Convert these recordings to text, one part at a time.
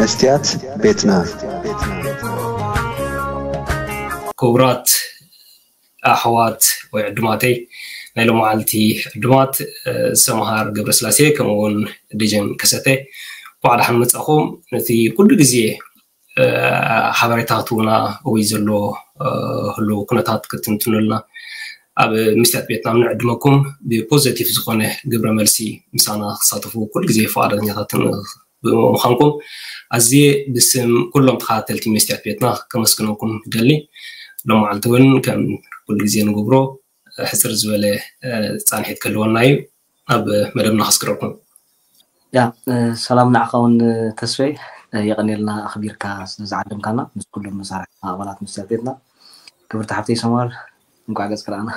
መስትያት ቤትና። ክቡራት ኣሕዋት ወይ ዕዱማተይ፣ ናይ ሎማዓልቲ ዕዱማት፣ ሰምሃር ገብረስላሴ ከምኡ እውን ደጀን ከሰተ፣ እንኳዕ ደሓን መጻኹም። ነቲ ኩሉ ግዜ ሓበሬታቱና ወይ ዘሎ ህሉ ኩነታት ክትንትኑልና ኣብ መስትያት ቤትና ንዕድመኩም። ብፖዘቲቭ ዝኾነ ግብረ መልሲ ምሳና ክሳተፉ ኩሉ ግዜ ፍቓደኛታት ብምዃንኩም ኣዝየ ብስም ኩሎም ተኸታተልቲ መስትያት ቤትና ከመስግነኩም ይደሊ። ሎማዓልቲ እውን ከም ኩሉ ግዜ ንገብሮ ሕፅር ዝበለ ፃንሒት ክህልወና እዩ። ኣብ መደብና ከስግረኩም። ያ ሰላም ንዓኻ እውን ተስፈይ፣ የቐንየልና ኣኽቢርካ ስለዝዓደምካና ምስ ኩሎም መሳርሕትና ኣባላት መስትያት ቤትና። ክብርቲ ሓፍተይ ሰማር እንኳዕ ገጽ ክረኣና።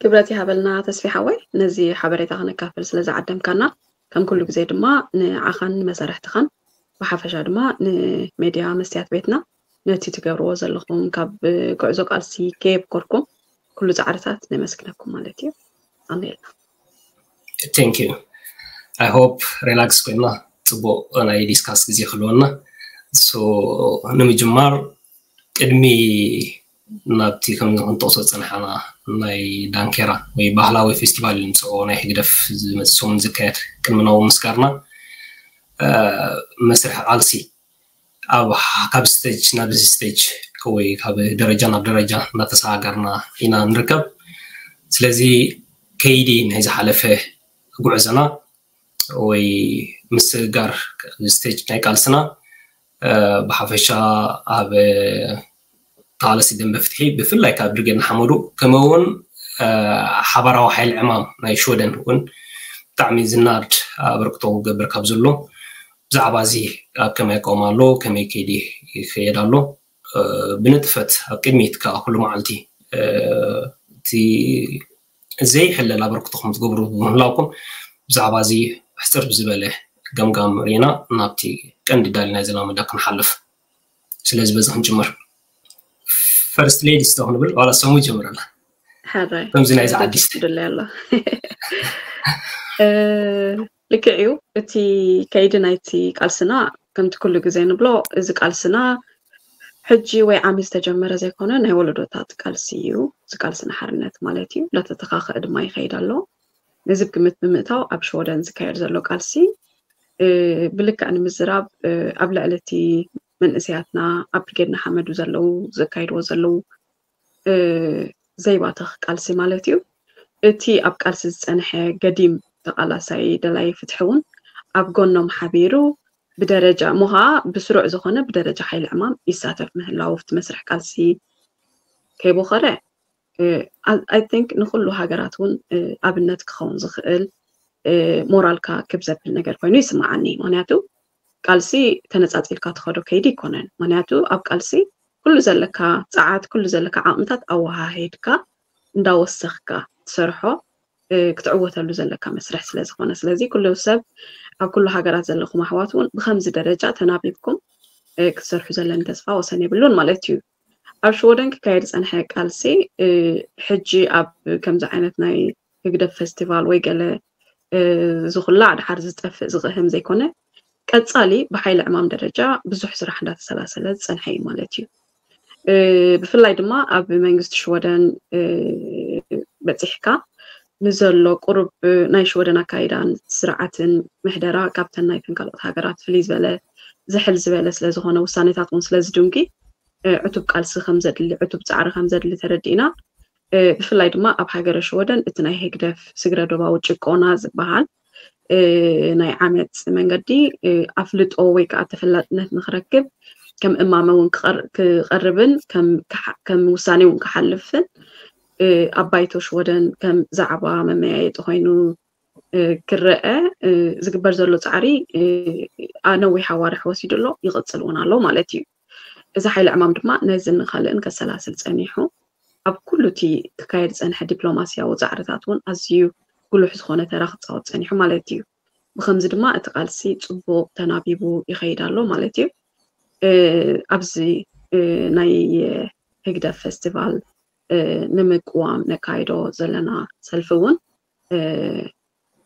ክብረት ይሃበልና ተስፊ ሓወይ፣ ነዚ ሓበሬታ ክነካፍል ስለዝዓደምካና። ከም ኩሉ ግዜ ድማ ንዓኻን ንመሳርሕትኻን ብሓፈሻ ድማ ንሜድያ መስትያት ቤትና ነቲ ትገብርዎ ዘለኹም ካብ ጉዕዞ ቃልሲ ከየብኮርኩም ኩሉ ፃዕርታት ነመስግነኩም ማለት እዩ። ኣሜልና። Thank you. I hope relax ኮይና ፅቡቅ ናይ ዲስካስ ግዜ ክህልወና። ንምጅማር ቅድሚ ናብቲ ከም ክንጠቕሶ ዝፀናሓና ናይ ዳንኬራ ወይ ባህላዊ ፌስቲቫል ንፅኦ ናይ ህግደፍ ዝመፅእ ሰሙን ዝካየድ ቅድሚ ናብኡ ምስጋርና መስርሕ ቃልሲ ኣብ ካብ ስቴጅ ናብ ስቴጅ ወይ ካብ ደረጃ ናብ ደረጃ እናተሰጋገርና ኢና ንርከብ። ስለዚ ከይዲ ናይ ዝሓለፈ ጉዕዞና ወይ ምስግጋር ስቴጅ ናይ ቃልስና ብሓፈሻ ኣብ ተቓለሲ ደንበ ፍትሒ ብፍላይ ካብ ብርጌድ ንሓመዱ ከምኡ እውን ሓባራዊ ሓይሊ ዕማም ናይ ሽወደን እውን ብጣዕሚ ዝናድ ኣበርክቶ ክገብር ካብ ዘሎ ብዛዕባ እዚ ኣብ ከመይ ኣቃውማ ኣሎ፣ ከመይ ከይዲ ይኸየድ ኣሎ፣ ብንጥፈት ኣብ ቅድሚት ከዓ ኩሉ መዓልቲ እቲ ዘይሕለል ኣበርክቶ ከም ትገብሩ ብምህላውኩም ብዛዕባ እዚ ሕፅር ብዝበለ ገምጋም ርኢና ናብቲ ቀንዲ ዳሊና ዘለና መደብ ክንሓልፍ። ስለዚ በዚ ክንጅምር። ፈርስት ሌዲስ ዶ ክንብል ዋላ ሰሙ ይጀምረና። ሕራይ ከምዚ ናይዚ ዓዲስ ድለ ኣሎ። ልክዕ እዩ። እቲ ከይዲ ናይቲ ቃልስና ከምቲ ኩሉ ግዜ ንብሎ እዚ ቃልስና ሕጂ ወይ ዓሚ ዝተጀመረ ዘይኮነ ናይ ወለዶታት ቃልሲ እዩ። እዚ ቃልስና ሓርነት ማለት እዩ። እንዳተተኻኸአ ድማ ይኸይድ ኣሎ። ነዚ ግምት ብምእታው ኣብ ሽወደን ዝካየድ ዘሎ ቃልሲ ብልክዕ ንምዝራብ ኣብ ልዕሊ እቲ መንእሰያትና ኣብ ብርጌድ ንሓመዱ ዘለዉ ዘካይድዎ ዘለዉ ዘይባተኽ ቃልሲ ማለት እዩ። እቲ ኣብ ቃልሲ ዝጸንሐ ገዲም ተቓላሳይ ደላይ ፍትሒ እውን ኣብ ጎኖም ሓቢሩ ብደረጃ እሞ ኸዓ ብስሩዕ ዝኾነ ብደረጃ ሓይሊ ዕማም ይሳተፍ ምህላው ኣብቲ መስርሕ ቃልሲ ከይቦኸረ I think ንኹሉ ሃገራት እውን ኣብነት ክኸውን ዝኽእል ሞራልካ ክብ ዘብል ነገር ኮይኑ ይስምዓኒ። ምክንያቱ ቃልሲ ተነጻጺልካ ትኸዶ ከይዲ ይኮነን። ምክንያቱ ኣብ ቃልሲ ኩሉ ዘለካ ጸዓት፣ ኩሉ ዘለካ ዓቕምታት ኣወሃሂድካ እንዳወሰኽካ ትሰርሖ ክትዕወተሉ ዘለካ መስርሕ ስለ ዝኾነ፣ ስለዚ ኩሉ ሰብ ኣብ ኩሉ ሃገራት ዘለኹም ኣሕዋት እውን ብኸምዚ ደረጃ ተናቢብኩም ክትሰርሑ ዘለኒ ተስፋ ወሰን የብሉን ማለት እዩ። ኣብ ሽወደን ክካየድ ዝጸንሐ ቃልሲ ሕጂ ኣብ ከምዚ ዓይነት ናይ ህግደፍ ፌስቲቫል ወይ ገለ ዝኹላዕ ድሓር ዝጠፍእ ዝቕህም ዘይኮነ ቀጻሊ ብሓይሊ ዕማም ደረጃ ብዙሕ ስራሕ እንዳተሰላሰለ ዝጸንሐ እዩ ማለት እዩ። ብፍላይ ድማ ኣብ መንግስቲ ሽወደን በጺሕካ ንዘሎ ቁሩብ ናይ ሽወደን ኣካይዳን ስርዓትን ምሕደራ ካብተን ናይተን ካልኦት ሃገራት ፍልይ ዝበለ ዝሕል ዝበለ ስለ ዝኾነ ውሳኔታት እውን ስለ ዝድንጊ ዕቱብ ቃልሲ ከም ዘድሊ ዕቱብ ጻዕሪ ከም ዘድሊ ተረዲእና ብፍላይ ድማ ኣብ ሃገረ ሽወደን እቲ ናይ ህግደፍ ስግረ ዶባዊ ጭቆና ዝበሃል ናይ ዓመፅ መንገዲ ኣፍልጦ ወይ ከዓ ተፈላጥነት ንክረክብ ከም እማመ እውን ክቐርብን ከም ውሳኔ እውን ክሓልፍን ኣብ ባይቶ ሽወደን ከም ዛዕባ መመያየጢ ኮይኑ ክረአ ዝግበር ዘሎ ፃዕሪ ነዊሕ ኣዋርሕ ወሲዱ ኣሎ፣ ይቕፅል እውን ኣሎ ማለት እዩ። እዚ ሓይሊ ዕማም ድማ ነዚ ንካልእን ከሰላስል ፀኒሑ ኣብ ኩሉ እቲ ክካየድ ዝፀንሐ ዲፕሎማስያዊ ፃዕርታት እውን ኣዝዩ ጉሉሕ ዝኾነ ተራ ክፃወት ፀኒሑ ማለት እዩ። ብከምዚ ድማ እቲ ቃልሲ ፅቡቕ ተናቢቡ ይኸይድ ኣሎ ማለት እዩ። ኣብዚ ናይ ህግደፍ ፌስቲቫል ንምቅዋም ነካይዶ ዘለና ሰልፊ እውን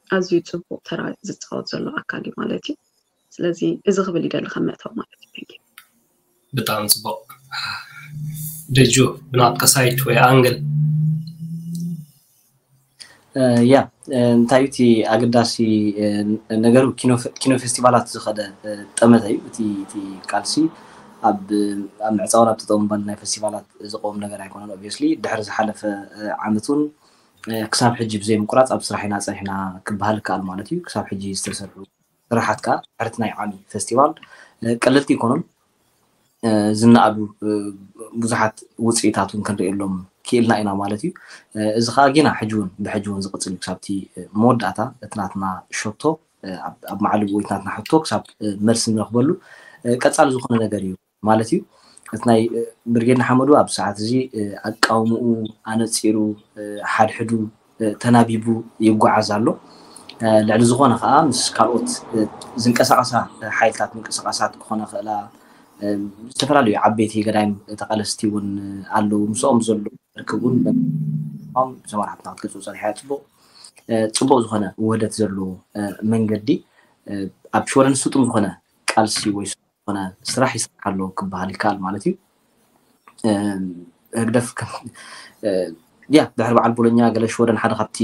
ኣዝዩ ፅቡቕ ተራ ዝፃወት ዘሎ ኣካል እዩ ማለት እዩ። ስለዚ እዚ ክብል ይደሊ ከም መእተዊ ማለት እዩ። Thank you። ብጣዕሚ ፅቡቅ። ደጁ፣ ብናትካ ሳይት ወይ ኣንግል? ያ፣ እንታይ እዩ እቲ ኣገዳሲ ነገር? ኪኖ ፌስቲቫላት ዝኸደ ጠመተ እዩ። እቲ ቃልሲ ኣብ ምዕፃውን ኣብ ተጠሙባል ናይ ፌስቲቫላት ዝቆም ነገር ኣይኮነን። ኦብስሊ ድሕሪ ዝሓለፈ ዓመት እውን ክሳብ ሕጂ ብዘይ ምቁራፅ ኣብ ስራሕ ኢና ፀኒሕና ክበሃል ይከኣል ማለት እዩ። ክሳብ ሕጂ ዝተሰርሑ ስራሓት ከዓ ድሕርቲ ናይ ዓሚ ፌስቲቫል ቀለልቲ ይኮኑን ዝነኣዱ ብዙሓት ውፅኢታት እውን ክንርእየሎም ክኢልና ኢና ማለት እዩ። እዚ ከዓ ጌና ሕጂ እውን ብሕጂ እውን ዝቕፅል እዩ። ክሳብቲ መወዳእታ እቲ ናትና ሸቶ ኣብ መዓልብ ወይ ናትና ሕቶ ክሳብ መልሲ ንረክበሉ ቀፃሊ ዝኾነ ነገር እዩ ማለት እዩ። እቲ ናይ ብርጌድ ንሓመዱ ኣብ ሰዓት እዚ ኣቃውምኡ ኣነፂሩ ሓድሕዱ ተናቢቡ ይጓዓዝ ኣሎ። ልዕሊ ዝኾነ ከዓ ምስ ካልኦት ዝንቀሳቐሳ ሓይልታት ምንቅስቃሳት ክኾነ ክእላ ዝተፈላለዩ ዓበይቲ ገዳይም ተቃለስቲ እውን ኣለዉ። ምስኦም ዘሎ ርክብ እውን ብሰማር ሓብትና ክትገልፁ ፀኒሓ። ፅቡቅ ፅቡቅ ዝኾነ ውህደት ዘለዎ መንገዲ ኣብ ሽወደን ስጡም ዝኾነ ቃልሲ ወይ ዝኾነ ስራሕ ይስራሕ ኣሎ ክበሃል ይከኣል ማለት እዩ። ህግደፍ ያ ድሕሪ በዓል ቦሎኛ ገለ ሽወደን ሓደ ካብቲ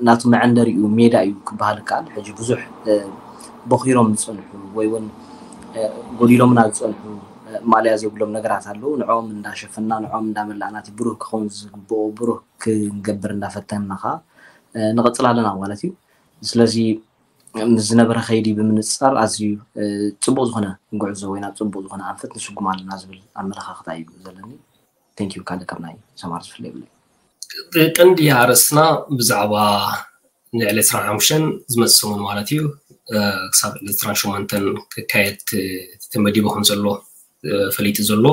ናቱ መዐንደሪኡ ሜዳ እዩ ክበሃል ይከኣል። ሕጂ ብዙሕ ቦኺሮም ዝፀንሑ ወይ እውን ጎዲሎምና ዝፀንሑ ማእለያ ዘይብሎም ነገራት ኣለዉ። ንዕኦም እንዳሸፈና ንዕኦም እንዳመላእና እቲ ብሩህ ክኸውን ዝግብኦ ብሩህ ክንገብር እንዳፈተንና ከዓ ንቐፅል ኣለና ማለት እዩ። ስለዚ ምስ ዝነበረ ከይዲ ብምንፅፃር ኣዝዩ ፅቡቅ ዝኾነ ጉዕዞ ወይ ናብ ፅቡቅ ዝኾነ ኣንፈት ንስጉም ኣለና ዝብል ኣመለኻኽታ እዩ ዘለኒ። Thank you። ካልእ ካብ ናይ ሰማር ዝፍለ የብለይ። ቀንዲ ኣርእስትና ብዛዕባ ልዕሊ ዕስራን ሓሙሽተን ዝመፅእ ሰሙን ማለት እዩ ክሳብ ዕስራን ሸሞንተን ክካየድ ተመዲቡ ከም ዘሎ ፈሊጡ ዘሎ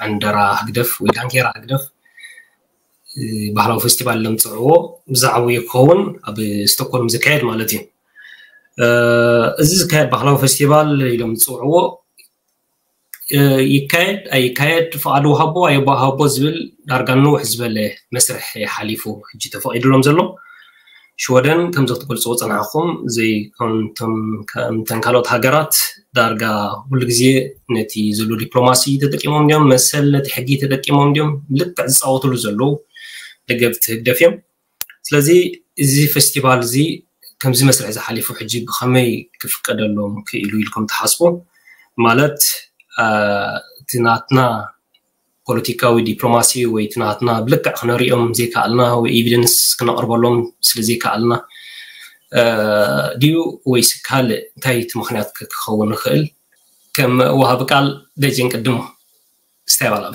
ዕንደራ ህግደፍ ወይ ዳንኬራ ህግደፍ ባህላዊ ፌስቲቫል ለምፅዕዎ ብዛዕባኡ ክኸውን ኣብ ስቶኮልም ዝካየድ ማለት እዩ። እዚ ዝካየድ ባህላዊ ፌስቲቫል ኢሎም ዝፅውዕዎ ይካየድ ኣይካየድ፣ ፍቓድ ወሃቦ ኣይወሃቦ ዝብል ዳርጋ ንውሕ ዝበለ መስርሕ ሓሊፉ ሕጂ ተፈቒድሎም ዘሎ። ሽወደን ከምዚ ክትገልፅዎ ፀናሕኹም ዘይኮንቶም ከምተን ካልኦት ሃገራት ዳርጋ ኩሉ ግዜ ነቲ ዘሎ ዲፕሎማሲ ተጠቂሞም እንዲዮም መሰል ነቲ ሕጊ ተጠቂሞም እንዲዮም ልክዕ ዝፃወትሉ ዘለዉ ደገፍቲ ህግደፍ እዮም። ስለዚ እዚ ፌስቲቫል እዚ ከምዚ መስርሕ ዝሓሊፉ ሕጂ ብኸመይ ክፍቀደሎም ክኢሉ ኢልኩም ትሓስቡ? ማለት እቲ ናትና ፖለቲካዊ ዲፕሎማሲ ወይ እቲ ናትና ብልክዕ ክነሪኦም ዘይከኣልና ወይ ኤቪደንስ ክነቕርበሎም ስለ ዘይከኣልና ድዩ ወይስ ካልእ እንታይ እቲ ምክንያት ክኸውን ይኽእል? ከም ወሃቢ ቃል ደጀን ቅድሞ ስታይ ባላለ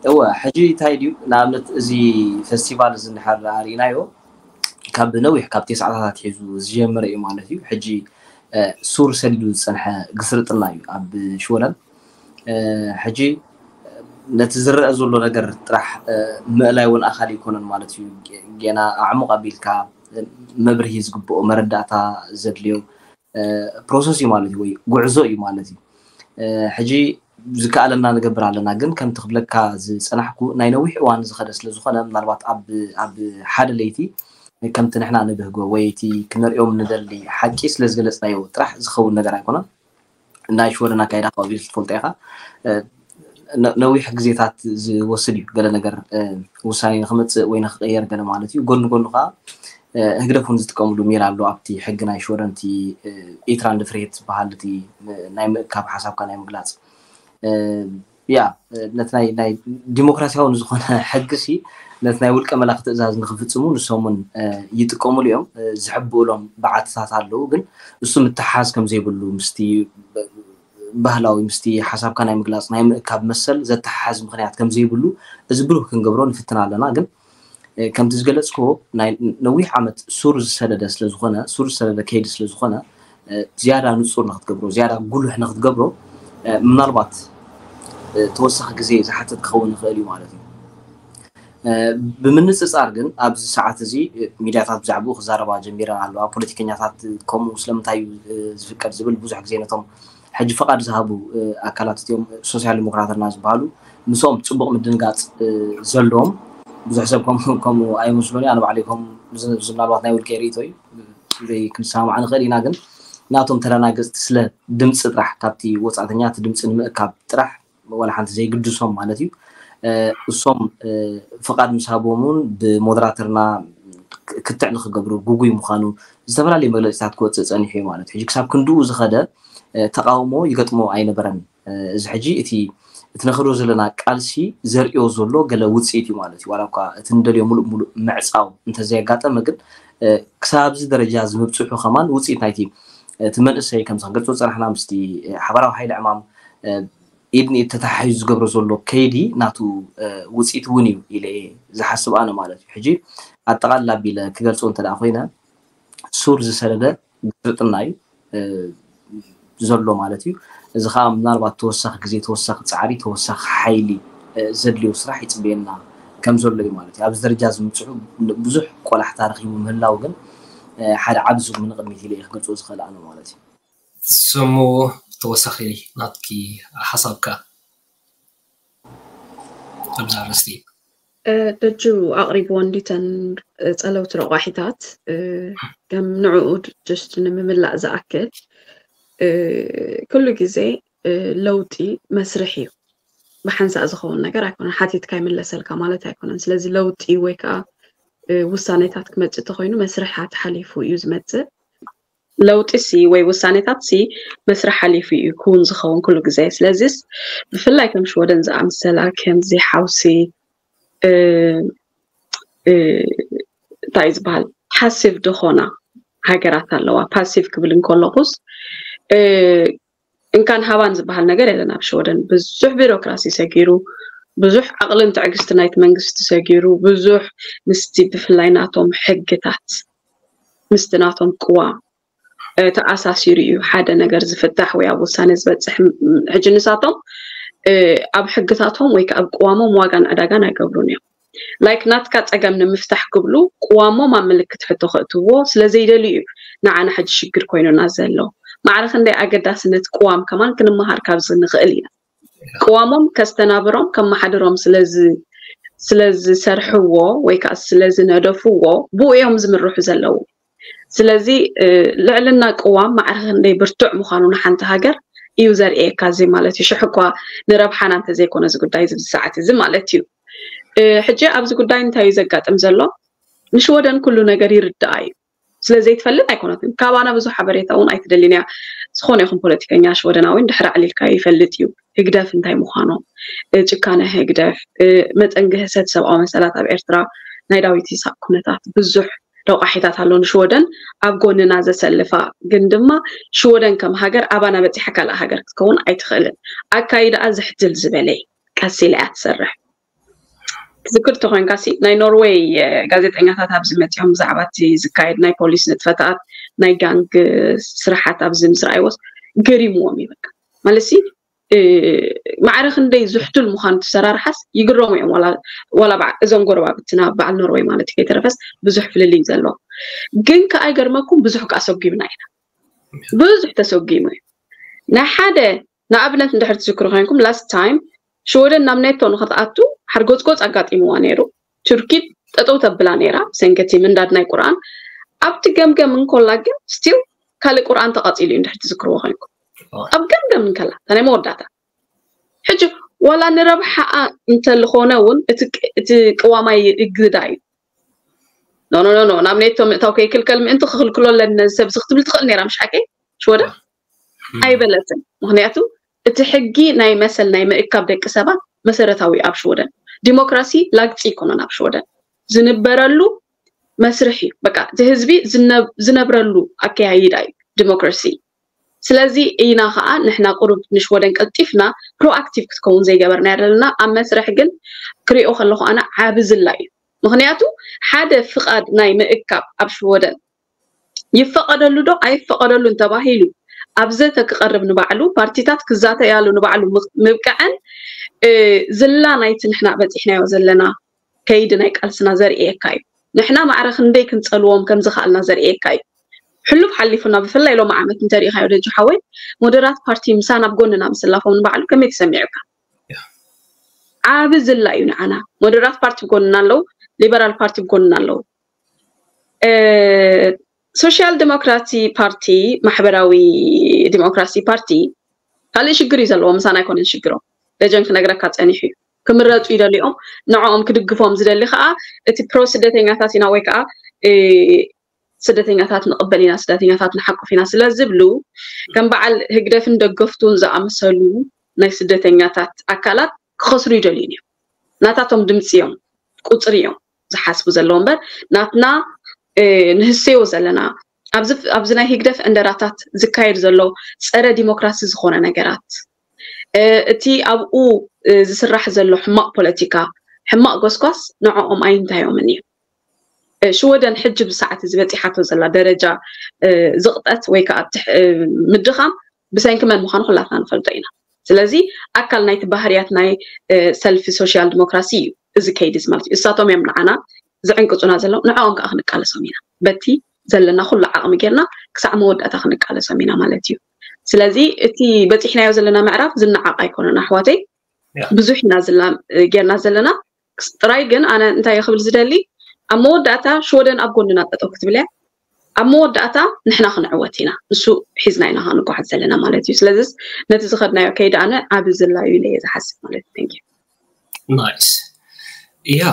እወ ሕጂ እንታይ ድዩ ንኣብነት እዚ ፌስቲቫል እዚ እንድሕር ኣርኢናዮ ካብ ነዊሕ ካብ ቴስዓታት ኣትሒዙ ዝጀመረ እዩ ማለት እዩ። ሕጂ ሱር ሰዲዱ ዝፀንሐ ግስርጥና እዩ ኣብ ሽወደን። ሕጂ ነቲ ዝረአ ዘሎ ነገር ጥራሕ ምእላይ እውን ኣካል ኣይኮነን ማለት እዩ። ጌና ኣዕሙቕ ኣቢልካ መብርሂ ዝግብኦ መረዳእታ ዘድልዮ ፕሮሰስ እዩ ማለት እዩ ወይ ጉዕዞ እዩ ማለት እዩ። ሕጂ ዝከኣለና ንገብር ኣለና ግን ከምቲ ክብለካ ዝፀናሕኩ ናይ ነዊሕ እዋን ዝኸደ ስለዝኾነ ምናልባት ኣብ ሓደ ለይቲ ከምቲ ንሕና ንብህጎ ወይ እቲ ክንሪኦም ንደሊ ሓቂ ስለዝገለፅናዮ ጥራሕ ዝኸውን ነገር ኣይኮነን። ናይ ሽወደን ኣካይዳ ካብ ትፈልጦ ኢኻ። ነዊሕ ግዜታት ዝወስድ እዩ ገለ ነገር ውሳኔ ንክመፅእ ወይ ንክቀየር ገለ ማለት እዩ። ጎኒ ጎኒ ከዓ ህግደፍ እውን ዝጥቀምሉ ሜላ ኣሎ ኣብቲ ሕጊ ናይ ሽወደን እቲ ኤትራንድ ፍርሄት ዝበሃል እቲ ናይ ምእካብ ሓሳብካ ናይ ምግላፅ ያ ነቲ ናይ ናይ ዲሞክራሲያዊ ዝኾነ ሕጊ ሲ ነቲ ናይ ውልቀ መላኺ ትእዛዝ ንክፍፅሙ ንሶም እውን ይጥቀምሉ እዮም። ዝሕብእሎም በዓትታት ኣለዉ ግን እሱ ምትሓዝ ከም ዘይብሉ ምስቲ ባህላዊ ምስቲ ሓሳብካ ናይ ምግላፅ ናይ ምእካብ መሰል ዘተሓሓዝ ምክንያት ከም ዘይብሉ እዚ ብሩህ ክንገብሮ ንፍትን ኣለና። ግን ከምቲ ዝገለፅክዎ ናይ ነዊሕ ዓመት ሱር ዝሰደደ ስለዝኾነ ሱር ዝሰደደ ከይዲ ስለዝኾነ ዝያዳ ንፁር ንክትገብሮ ዝያዳ ጉሉሕ ንክትገብሮ ምናልባት ተወሳኺ ግዜ ዝሓትት ክኸውን ይኽእል እዩ ማለት እዩ። ብምንፅፃር ግን ኣብዚ ሰዓት እዚ ሚድያታት ብዛዕባኡ ክዛረባ ጀሚረን ኣለዋ። ፖለቲከኛታት ከምኡ ስለምንታይ እዩ ዝፍቀድ ዝብል ብዙሕ ግዜ ነቶም ሕጂ ፈቓድ ዝሃቡ ኣካላት እቲኦም ሶሲያል ዲሞክራትና ዝበሃሉ ምስኦም ፅቡቕ ምድንጋፅ ዘለዎም ብዙሕ ሰብ ከምኡ ኣይመስሉን። ኣነ ባዕለይ ከም ምናልባት ናይ ውልቀ ርእቶ እዩ ዘይክንሰማማዕ ንኽእል ኢና ግን ናቶም ተደናገፅቲ ስለ ድምፂ ጥራሕ ካብቲ ወፃእተኛ እቲ ድምፂ ንምእካብ ጥራሕ ዋላ ሓንቲ ዘይግድሶም ማለት እዩ። እሶም ፍቓድ ምስ ሃቦም እውን ብሞደራተርና ክትዕ ንክገብሩ ግጉይ ምዃኑ ዝተፈላለዩ መግለፂታት ክወፅእ ፀኒሑ እዩ ማለት እዩ። ሕጂ ክሳብ ክንድኡ ዝኸደ ተቃውሞ ይገጥሞ ኣይነበረን። እዚ ሕጂ እቲ እቲ ነኸዶ ዘለና ቃልሲ ዘርእዮ ዘሎ ገለ ውፅኢት እዩ ማለት እዩ። ዋላ እኳ እቲ ንደልዮ ሙሉእ ሙሉእ ምዕፃው እንተዘየጋጠመ ግን ክሳብ ኣብዚ ደረጃ እዚ ምብፅሑ ከማን ውፅኢት ናይቲ እቲ መንእሰይ ከምዚ ክንገልፆ ዝፀናሕና ምስቲ ሓባራዊ ሓይሊ ዕማም ኢድ ንኢድ ተተሓሒዙ ዝገብሮ ዘሎ ከይዲ ናቱ ውፅኢት እውን እዩ ኢለ ዝሓስብ ኣነ ማለት እዩ። ሕጂ ኣጠቓልል ኣቢለ ክገልፆ እንተ ደኣ ኮይነ ሱር ዝሰደደ ግርጥና እዩ ዘሎ ማለት እዩ። እዚ ከዓ ምናልባት ተወሳኺ ግዜ፣ ተወሳኺ ፃዕሪ፣ ተወሳኺ ሓይሊ ዘድልዮ ስራሕ ይፅበየና ከም ዘሎ እዩ ማለት እዩ። ኣብዚ ደረጃ እዚ ምብፅሑ ብዙሕ ቆላሕታ ረኺቡ ምህላው ግን ሓደ ዓቢ ዙር ንቕድሚት ኢለ እየ ክገልፆ ዝኽእል ኣነ ማለት እዩ። ስሙ ተወሳኺ ናትኪ ሓሳብካ ኣብዚ ኣርእስቲ ደጁ ኣቕሪብዎ እንዲተን ፀለውቲ ረቋሒታት ከም ንዕኡ just ንምምላእ ዝኣክል ኩሉ ግዜ ለውጢ መስርሕ እዩ። ብሓንሳእ ዝኸውን ነገር ኣይኮነን። ሓቲትካ ይምለሰልካ ማለት ኣይኮነን። ስለዚ ለውጢ ወይ ከዓ ውሳኔታት ክመፅእ ተኮይኑ መስርሓት ሓሊፉ እዩ ዝመፅእ። ለውጢ ሲ ወይ ውሳኔታት ሲ መስርሕ ሓሊፉ እዩ ክውን ዝኸውን ኩሉ ግዜ። ስለዚስ ብፍላይ ከም ሽወደን ዝኣምሰላ ከምዚ ሓውሲ እንታይ ዝበሃል ፓሲቭ ዝኾና ሃገራት ኣለዋ። ፓሲቭ ክብል እንከለኹስ እንካን ሃባን ዝበሃል ነገር የለን ኣብ ሽወደን። ብዙሕ ቢሮክራሲ ሰጊሩ፣ ብዙሕ ዓቕልን ትዕግስቲ ናይቲ መንግስቲ ሰጊሩ፣ ብዙሕ ምስቲ ብፍላይ ናቶም ሕግታት ምስቲ ናቶም ቅዋም ተኣሳሲሩ እዩ ሓደ ነገር ዝፍታሕ ወይ ኣብ ውሳኔ ዝበፅሕ። ሕጂ ንሳቶም ኣብ ሕግታቶም ወይ ከዓ ኣብ ቅዋሞም ዋጋን ዕዳጋን ኣይገብሩን እዮም። ላይክ ናትካ ፀገም ንምፍታሕ ክብሉ ቅዋሞም ኣብ ምልክት ሕቶ ከእትዎ ስለዘይደልዩ እዩ ንዓና ሕጂ ሽግር ኮይኑና ዘሎ። ማዕረ ክንደይ ኣገዳስነት ቅዋም ከማን ክንመሃር ካብዚ ንኽእል ኢና። ቅዋሞም ከስተናብሮም ከመሓድሮም ስለዝሰርሕዎ ወይ ከዓ ስለዝነደፍዎ ብኡ እዮም ዝምርሑ ዘለዉ። ስለዚ ልዕልና ቅዋም ማዕረ ክንደይ ብርቱዕ ምዃኑ ንሓንቲ ሃገር እዩ ዘርእየካ። እዚ ማለት እዩ ሽሕ እኳ ንረብሓና እንተዘይኮነ እዚ ጉዳይ እዚ ሰዓት እዚ ማለት እዩ። ሕጂ ኣብዚ ጉዳይ እንታይ እዩ ዘጋጥም ዘሎ? ንሽወደን ኩሉ ነገር ይርድኣ እዩ። ስለዘይትፈልጥ ኣይኮነትን። ካባና ብዙሕ ሓበሬታ እውን ኣይትደልን እያ። ዝኾነ ይኹን ፖለቲከኛ ሽወደናዊ እንድሕር ኣዕሊልካዮ ይፈልጥ እዩ ህግደፍ እንታይ ምዃኖም፣ ጭካነ ህግደፍ፣ መጠን ግህሰት ሰብኣዊ መሰላት ኣብ ኤርትራ፣ ናይ ዳዊት ይስሐቅ ኩነታት ብዙሕ ረቋሒታት ኣሎ ንሽወደን ኣብ ጎንና ዘሰልፋ። ግን ድማ ሽወደን ከም ሃገር ኣባና በፂሓ ካልእ ሃገር ክትከውን ኣይትኽእልን። ኣካይዳኣ ዝሕትል ዝበለ እዩ። ቀስ ኢላ እያ ትሰርሕ። ትዝክር ተኮንካ ሲ ናይ ኖርዌይ ጋዜጠኛታት ኣብዚ መፂኦም ብዛዕባ እቲ ዝካየድ ናይ ፖሊስ ንጥፈታት ናይ ጋንግ ስራሓት ኣብዚ ምስ ረኣይዎስ ገሪምዎም እዩ። በቃ ማለት ሲ ማዕረ ክንደይ ዝሕቱል ምዃኑ ትሰራርሓስ ይግረሙ እዮም። ዋላ እዞም ጎረባብትና በዓል ኖርዌይ ማለት እዩ ከይተረፈስ ብዙሕ ፍልልይ እዩ ዘለዎም። ግን ከኣ ይገርመኩም ብዙሕ ከኣ ሰጒምና ኢና። ብዙሕ ተሰጒሙ እዩ። ናይ ሓደ ንኣብነት እንድሕር ትዝክሩ ኮይንኩም last time ሽወደን ናብ ኔቶ ንክትኣቱ ሓርጎፅጎፅ ኣጋጢምዋ ነይሩ። ቱርኪ ጠጠው ተብላ ነይራ ብሰንኪ እቲ ምንዳድ ናይ ቁርኣን። ኣብቲ ገምገም እንኮላ ግን still ካልእ ቁርኣን ተቐፂሉ እዩ እንድሕር ትዝክርዎ ኮይንኩም። ኣብ ገምገም እንከላ እታ ናይ መወዳእታ ሕጂ ዋላ ንረብሓኣ እንተልኾነ እውን እቲ ቅዋማይ እግዳ እዩ። ኖ ኖ ኖ ናብ ኔቶ ምእታው ከይክልከል ምእንቲ ክክልክሎ ኣለኒ ነዚ ሰብ እዚ ክትብል ትኽእል ነይራ ምሽ ሓቀይ ሽወደን ኣይበለትን። ምክንያቱ እቲ ሕጊ ናይ መሰል ናይ ምእካብ ደቂ ሰባት መሰረታዊ ኣብ ሽወደን ዲሞክራሲ ላግፂ ይኮነን ኣብ ሽወደን ዝንበረሉ መስርሕ እዩ። በቃ እቲ ህዝቢ ዝነብረሉ ኣከያይዳ እዩ ዲሞክራሲ። ስለዚ ኢና ከዓ ንሕና ቁሩብ ንሽወደን ቀልጢፍና ፕሮኣክቲቭ ክትከውን ዘይገበርናያ ዘለና። ኣብ መስርሕ ግን ክሪኦ ከለኹ ኣነ ዓቢ ዝላ እዩ። ምክንያቱ ሓደ ፍቓድ ናይ ምእካብ ኣብ ሽወደን ይፈቐደሉ ዶ ኣይፈቐደሉን ተባሂሉ ኣብ ዘተ ክቐርብ ንባዕሉ ፓርቲታት ክዛተያሉ ንባዕሉ ምብቅዐን ዝላ ናይቲ ንሕና በፂሕናዮ ዘለና ከይዲ ናይ ቃልስና ዘርእየካ እዩ። ንሕና ማዕረ ክንደይ ክንፀልዎም ከም ዝኽኣልና ዘርእየካ እዩ። ሕሉፍ ሓሊፉና ብፍላይ ሎሚ ዓመት እንተሪኢኻዮ ደጁ ሓወይ ሞደራት ፓርቲ ምሳና ኣብ ጎንና ምስላፎም ንባዕሉ ከመይ ተሰሚዑካ? ዓቢ ዝላ እዩ ንዓና። ሞደራት ፓርቲ ብጎንና ኣለዉ፣ ሊበራል ፓርቲ ብጎንና ኣለዉ። ሶሻል ዲሞክራሲ ፓርቲ፣ ማሕበራዊ ዲሞክራሲ ፓርቲ ካልእ ሽግር እዩ ዘለዎ። ምሳና ኣይኮነን ሽግሮም። ደጀን ክነግረካ ጸኒሑ እዩ። ክምረጹ ይደልዮም። ንዕኦም ክድግፎም ዝደሊ ከዓ እቲ ፕሮ ስደተኛታት ኢና ወይ ከዓ ስደተኛታት ንቕበል ኢና፣ ስደተኛታት ንሓቁፍ ኢና ስለ ዝብሉ ከም በዓል ህግደፍን ደገፍቱን ዝኣመሰሉ ናይ ስደተኛታት ኣካላት ክኸስሩ ይደልዩን እዮም። ናታቶም ድምፂ እዮም፣ ቁፅሪ እዮም ዝሓስቡ ዘለዉ እምበር ናትና ንህሰዮ ዘለና ኣብዚ ናይ ህግደፍ ዕንደራታት ዝካየድ ዘሎ ፀረ ዲሞክራሲ ዝኾነ ነገራት፣ እቲ ኣብኡ ዝስራሕ ዘሎ ሕማቕ ፖለቲካ፣ ሕማቕ ጎስጓስ ንዕኦም ኣይንታዮምን እዩ። ሽወደን ሕጂ ብሰዓት እዚ በፂሓቶ ዘላ ደረጃ ዝቕጠት ወይ ከዓ ምድኻም ብሰንኪ መን ምዃኑ ኩላትና ንፈልጦ ኢና። ስለዚ ኣካል ናይቲ ባህርያት ናይ ሰልፊ ሶሻል ዲሞክራሲ እዩ እዚ ከይዲ እዚ ማለት እዩ። እሳቶም እዮም ንዓና ዝዕንቅፁና ዘለዉ፣ ንዕኦም ከዓ ክንቃለሶም ኢና። በቲ ዘለና ኩሉ ዓቕሚ ጌርና ክሳዕ መወዳእታ ክንቃለሶም ኢና ማለት እዩ። ስለዚ እቲ በፂሕናዮ ዘለና ምዕራፍ ዝነዓቕ ኣይኮነን ኣሕዋተይ። ብዙሕ ኢና ጌርና ዘለና ጥራይ። ግን ኣነ እንታይ ክብል ዝደሊ፣ ኣብ መወዳእታ ሽወደን ኣብ ጎንና ጠጠው ክትብል እያ። ኣብ መወዳእታ ንሕና ክንዕወት ኢና፣ ንሱ ሒዝና ኢና ክንጓዓዝ ዘለና ማለት እዩ። ስለዚስ ነቲ ዝኸድናዮ ከይዲ ኣነ ዓቢ ዝላዩ ኢለ እየ ዝሓስብ ማለት እዩ። Thank you። ናይስ። ያ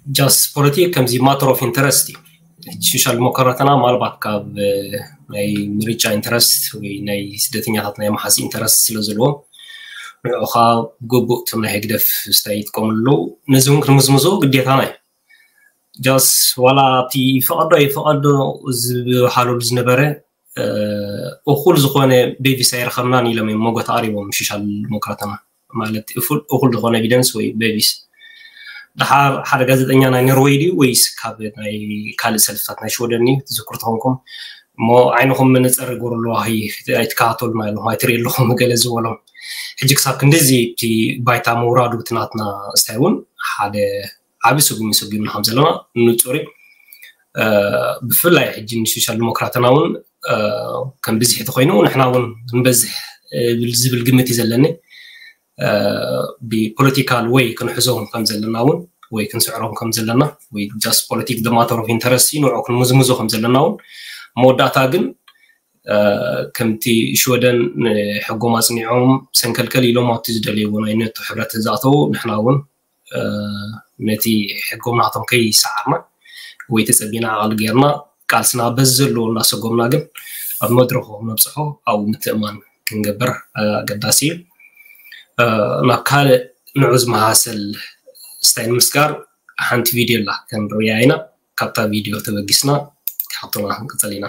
ጃስት ፖለቲክ ከምዚ ማተር ኦፍ ኢንተረስት እዩ። ሕጂ ሶሻል ዲሞክራትና ማልባት ካብ ናይ ምርጫ ኢንተረስት ወይ ናይ ስደተኛታት ናይ መሓዝ ኢንተረስት ስለ ዘለዎ ንዕኡ ከዓ ብግቡእ እቶም ናይ ህግደፍ ስታይ ይጥቀምሉ ኣለዉ። ነዚ እውን ክንምዝምዞ ግዴታና እዩ። ጃስ ዋላ ኣብቲ ይፈቐዶ ይፈቐዶ ዝበሃለሉ ዝነበረ እኹል ዝኾነ ቤቪስ ኣይረኸብናን ኢሎም እዮም መጎት ኣቕሪቦም ሶሻል ዲሞክራትና። ማለት እኹል ዝኾነ ኤቪደንስ ወይ ቤቪስ። ደሓር ሓደ ጋዜጠኛ ናይ ኖርወይ ድዩ ወይስ ካብ ናይ ካልእ ሰልፍታት ናይ ሽወደን እዩ ትዝክሩ ተኾንኩም እሞ ዓይንኹም መነፀር ይገብሩ ኣለዋ ኣይትከታተሉና ኣለኹም ኣይትርኢ ኣለኹም ገለ ዝበሎም። ሕጂ ክሳብ ክንድዚ እቲ ባይታ ምውራዱ እቲ ናትና ስታይ እውን ሓደ ዓቢ ስጉም ይስጉምና ከም ዘለና ንፁር እዩ። ብፍላይ ሕጂ ንሶሻል ዲሞክራትና እውን ከም ብዝሒ ተኮይኑ ንሕና እውን ክንበዝሕ ዝብል ግምት እዩ ዘለኒ። ብፖለቲካል ወይ ክንሕዞም ከም ዘለና እውን ወይ ክንስዕሮም ከም ዘለና ወይ ጃስት ፖለቲክ ማተር ኦፍ ኢንተረስት ንዑ ክንምዝምዞ ከም ዘለና እውን መወዳእታ ግን ከምቲ ሽወደን ሕጎም ኣፅኒዖም ሰንከልከል ኢሎም ኣብቲ ዝደልይዎ ናይ ኔቶ ሕብረት ዝኣተዉ ንሕና እውን ነቲ ሕጎም ናቶም ከይሰዓርና ወይ ተፀቢና ዓቕሊ ጌርና ቃልስና በዚ ዘለዎ እናሰጎምና ግን ኣብ መድረኹ ነብፅሖ ኣብኡ ምትእማን ክንገብር ኣገዳሲ እዩ። ናብ ካልእ ንዑ ዝመሳሰል ስታይ ንምስጋር ሓንቲ ቪድዮ ኣላ ክንርእያ ኢና። ካብታ ቪድዮ ተበጊስና ሓቶና ክንቅፅል ኢና።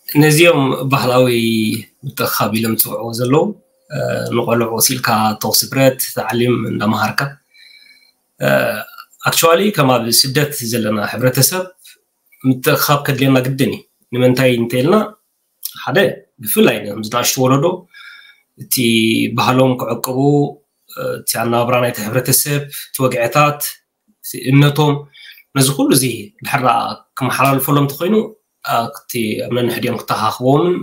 ነዚኦም ባህላዊ ምትእኻብ ኢሎም ዝፅውዕዎ ዘለዉ ንቆልዑ ወሲልካ ተኹሲ ብረት ተዓሊም እንዳመሃርካ ኣክቹዋሊ ከም ኣብ ስደት ዘለና ሕብረተሰብ ምትእኻብ ከድልየና ግድን እዩ። ንምንታይ እንተኢልና ሓደ ብፍላይ ንኣሽቱ ወለዶ እቲ ባህሎም ክዕቅቡ እቲ ኣናብራ ናይቲ ሕብረተሰብ እቲ ወግዕታት እምነቶም ነዚ ኩሉ እዚ ድሕር ክመሓላልፈሎም እንተኮይኑ እቲ ኣብ ነንሕዲኦም ክተኻኽቦምን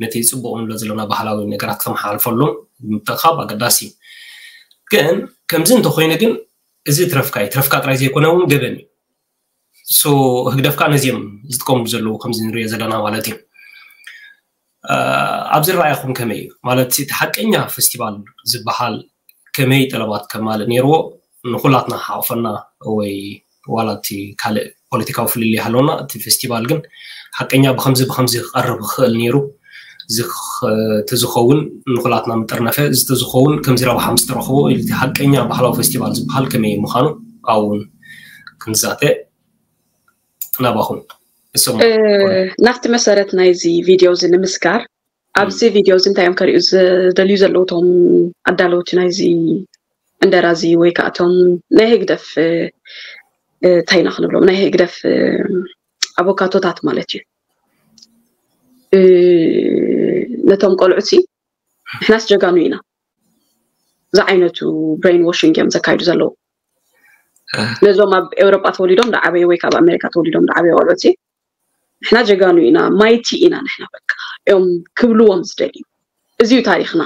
ነቲ ፅቡቅ ንብሎ ዘለና ባህላዊ ነገራት ክተመሓላልፈሎም ምትእኻብ ኣገዳሲ እዩ። ግን ከምዚ እንተኮይኑ ግን እዚ ትረፍካ እዩ። ትረፍካ ጥራይ ዘይኮነ እውን ገበን እዩ። ሶ ህግደፍካ ነዚኦም ዝጥቀምሉ ዘለዉ ከምዚ ንሪኦ ዘለና ማለት እዩ። ኣብ ዝረኣየኹም ከመይ እዩ ማለት እቲ ሓቀኛ ፌስቲቫል ዝበሃል ከመይ ጠለባት ከማልእ ነይርዎ ንኩላትና ሓቕፈና ወይ ዋላ እቲ ካልእ ፖለቲካዊ ፍልልይ ሃለውና እቲ ፌስቲቫል ግን ሓቀኛ ብከምዚ ብከምዚ ክቐርብ ክኽእል ነይሩ ተዝኸውን ንኩላትና ምጥርነፈ እዚ ተዝኸውን ከምዚ ረብሓ ምስ ተረኽቦ እቲ ሓቀኛ ባህላዊ ፌስቲቫል ዝበሃል ከመይ ምዃኑ ኣብኡ እውን ክንዛተ ናባኹም ናብቲ መሰረት ናይዚ ቪድዮ እዚ ንምስጋር ኣብዚ ቪድዮ እዚ እንታይ እዮም ከርእዩ ዝደልዩ ዘለዉ እቶም ኣዳለውቲ ናይዚ ዕንደራ እዚ ወይ ከዓ እቶም ናይ ህግደፍ እንታይ ኢና ክንብሎም ናይ ህግደፍ ኣቦካቶታት ማለት እዩ። ነቶም ቆልዑ ሲ ንሕናስ ጀጋኑ ኢና ዝዓይነቱ ብሬን ዋሽንግ እዮም ዘካይዱ ዘለዉ። ነዞም ኣብ ኤውሮጳ ተወሊዶም ዝዓበዩ ወይ ካብ ኣሜሪካ ተወሊዶም ዝዓበዩ ቆልዑ ሲ ንሕና ጀጋኑ ኢና ማይቲ ኢና ንሕና በቃ እዮም ክብልዎም ዝደልዩ። እዚ እዩ ታሪኽና።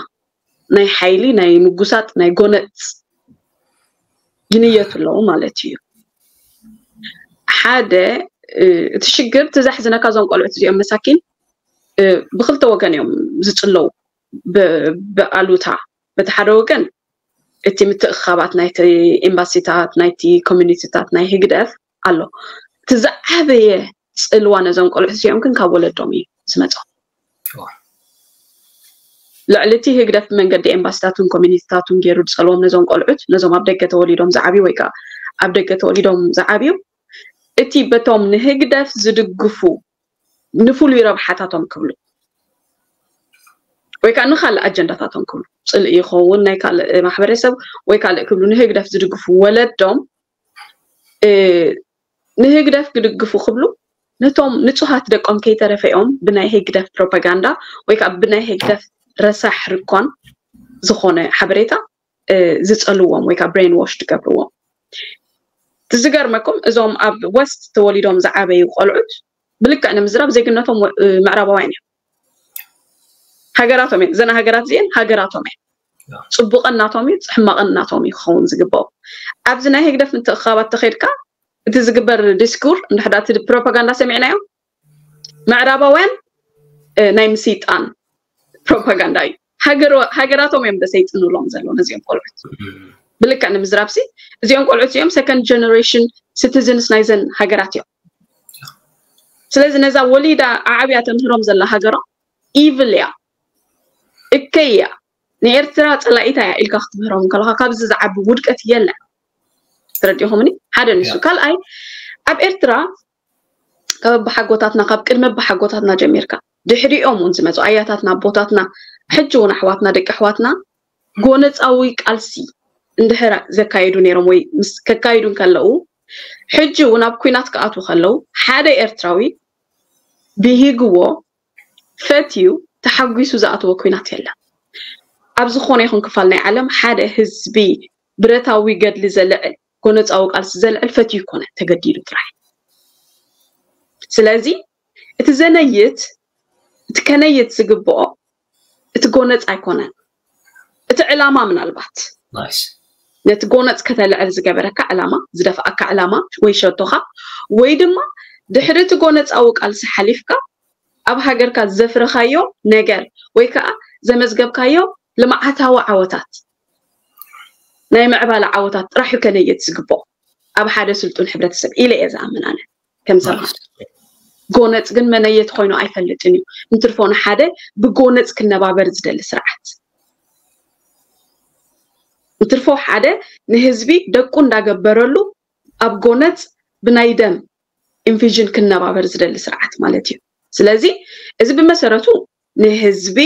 ናይ ሓይሊ ናይ ምጉሳጥ ናይ ጎነፅ ይንየቱ ኣለዉ ማለት እዩ። ሓደ እቲ ሽግር እቲ ዘሕዝነካ እዞም ቆልዑት እዚኦም መሳኪን ብክልተ ወገን እዮም ዝፅለዉ። ብኣሉታ በቲ ሓደ ወገን እቲ ምትእኻባት ናይቲ ኤምባሲታት ናይቲ ኮሚኒቲታት ናይ ህግደፍ ኣሎ። እቲ ዝዓበየ ፅልዋ ነዞም ቆልዑት እዚኦም ግን ካብ ወለዶም እዩ ዝመፆም። ልዕሊ እቲ ህግደፍ ብመንገዲ ኤምባሲታቱን ኮሚኒቲታቱን ገይሩ ዝፀልዎም ነዞም ቆልዑት ነዞም ኣብ ደገ ተወሊዶም ዝዓብዩ ወይ ከዓ ኣብ ደገ ተወሊዶም ዝዓብዩ እቲ በቶም ንህግደፍ ዝድግፉ ንፍሉይ ረብሓታቶም ክብሉ ወይ ከዓ ንካልእ ኣጀንዳታቶም ክብሉ ፅልኢ ይኸውን ናይ ካልእ ማሕበረሰብ ወይ ካልእ ክብሉ ንህግደፍ ዝድግፉ ወለዶም ንህግደፍ ክድግፉ ክብሉ ነቶም ንፁሃት ደቆም ከይተረፈኦም ብናይ ህግደፍ ፕሮፓጋንዳ ወይ ከዓ ብናይ ህግደፍ ረሳሕ ርኮን ዝኾነ ሓበሬታ ዝፀልዎም ወይ ከዓ ብሬን ዎሽ ትገብርዎም። ዝገርመኩም እዞም ኣብ ወስት ተወሊዶም ዝዓበዩ ቆልዑት ብልክዕ ንምዝራብ ዜግነቶም ምዕራባውያን እዮም። ሃገራቶም እዮም። እዘን ሃገራት እዚአን ሃገራቶም እየን። ፅቡቕን ናቶም እዩ፣ ሕማቕን ናቶም እዩ ክኸውን ዝግባኦ። ኣብዚ ናይ ህግደፍ ምትእኻባት ተኸድካ እቲ ዝግበር ዲስኩር እንድሕዳ እቲ ፕሮፓጋንዳ ሰሚዕናዮ ምዕራባውያን ናይ ምስይጣን ፕሮፓጋንዳ እዩ። ሃገራቶም እዮም ደሰይጥንሎም ዘሎ ነዚኦም ቆልዑት። ብልክዕ ንምዝራብሲ እዚኦም ቆልዑት እዚኦም ሰከንድ ጀነሬሽን ሲቲዝንስ ናይዘን ሃገራት እዮም። ስለዚ ነዛ ወሊዳ ዓዕብያ ተምህሮም ዘላ ሃገሮም ኢቭል እያ፣ እከይ እያ፣ ንኤርትራ ፀላኢታ እያ ኢልካ ክትምህሮም ከለካ ካብዚ ዝዓቢ ውድቀት የለን። ተረዲኹምኒ? ሓደ ንሱ። ካልኣይ ኣብ ኤርትራ ካብ ኣባሓጎታትና ካብ ቅድሚ ኣባሓጎታትና ጀሚርካ ድሕሪኦም እውን ዝመፁ ኣያታትና ኣቦታትና ሕጂ እውን ኣሕዋትና ደቂ ኣሕዋትና ጎነፃዊ ቃልሲ እንድሕር ዘካየዱ ነይሮም ወይ ምስ ከካይዱ እንከለዉ ሕጂ እውን ኣብ ኩናት ክኣትዉ ከለዉ ሓደ ኤርትራዊ ብሂግዎ ፈትዩ ተሓጒሱ ዝኣተወ ኩናት የለን። ኣብ ዝኾነ ይኹን ክፋል ናይ ዓለም ሓደ ህዝቢ ብረታዊ ገድሊ ዘልዕል ጎነፃዊ ቃልሲ ዘልዕል ፈትዩ ይኮነ ተገዲዱ ጥራይ። ስለዚ እቲ ዘነይት እቲ ከነይት ዝግብኦ እቲ ጎነፅ ኣይኮነን፣ እቲ ዕላማ ምናልባት ነቲ ጎነፅ ከተልዕል ዝገበረካ ዕላማ ዝደፍኣካ ዕላማ ወይ ሸቶኻ ወይ ድማ ድሕሪ እቲ ጎነፃዊ ቃልሲ ሓሊፍካ ኣብ ሃገርካ ዘፍረኻዮ ነገር ወይ ከዓ ዘመዝገብካዮ ልምዓታዊ ዓወታት ናይ ምዕባለ ዓወታት ጥራሕ እዩ ከነየት ዝግብኦ ኣብ ሓደ ስልጡን ሕብረተሰብ ኢለ እየ ዝኣምን ኣነ ከም ሰብ። ጎነፅ ግን መነየት ኮይኑ ኣይፈልጥን እዩ። እንትርፎ ንሓደ ብጎነፅ ክነባበር ዝደሊ ስርዓት እንትርፎ ሓደ ንህዝቢ ደቁ እንዳገበረሉ ኣብ ጎነፅ ብናይ ደም ኢንቪዥን ክነባበር ዝደሊ ስርዓት ማለት እዩ። ስለዚ እዚ ብመሰረቱ ንህዝቢ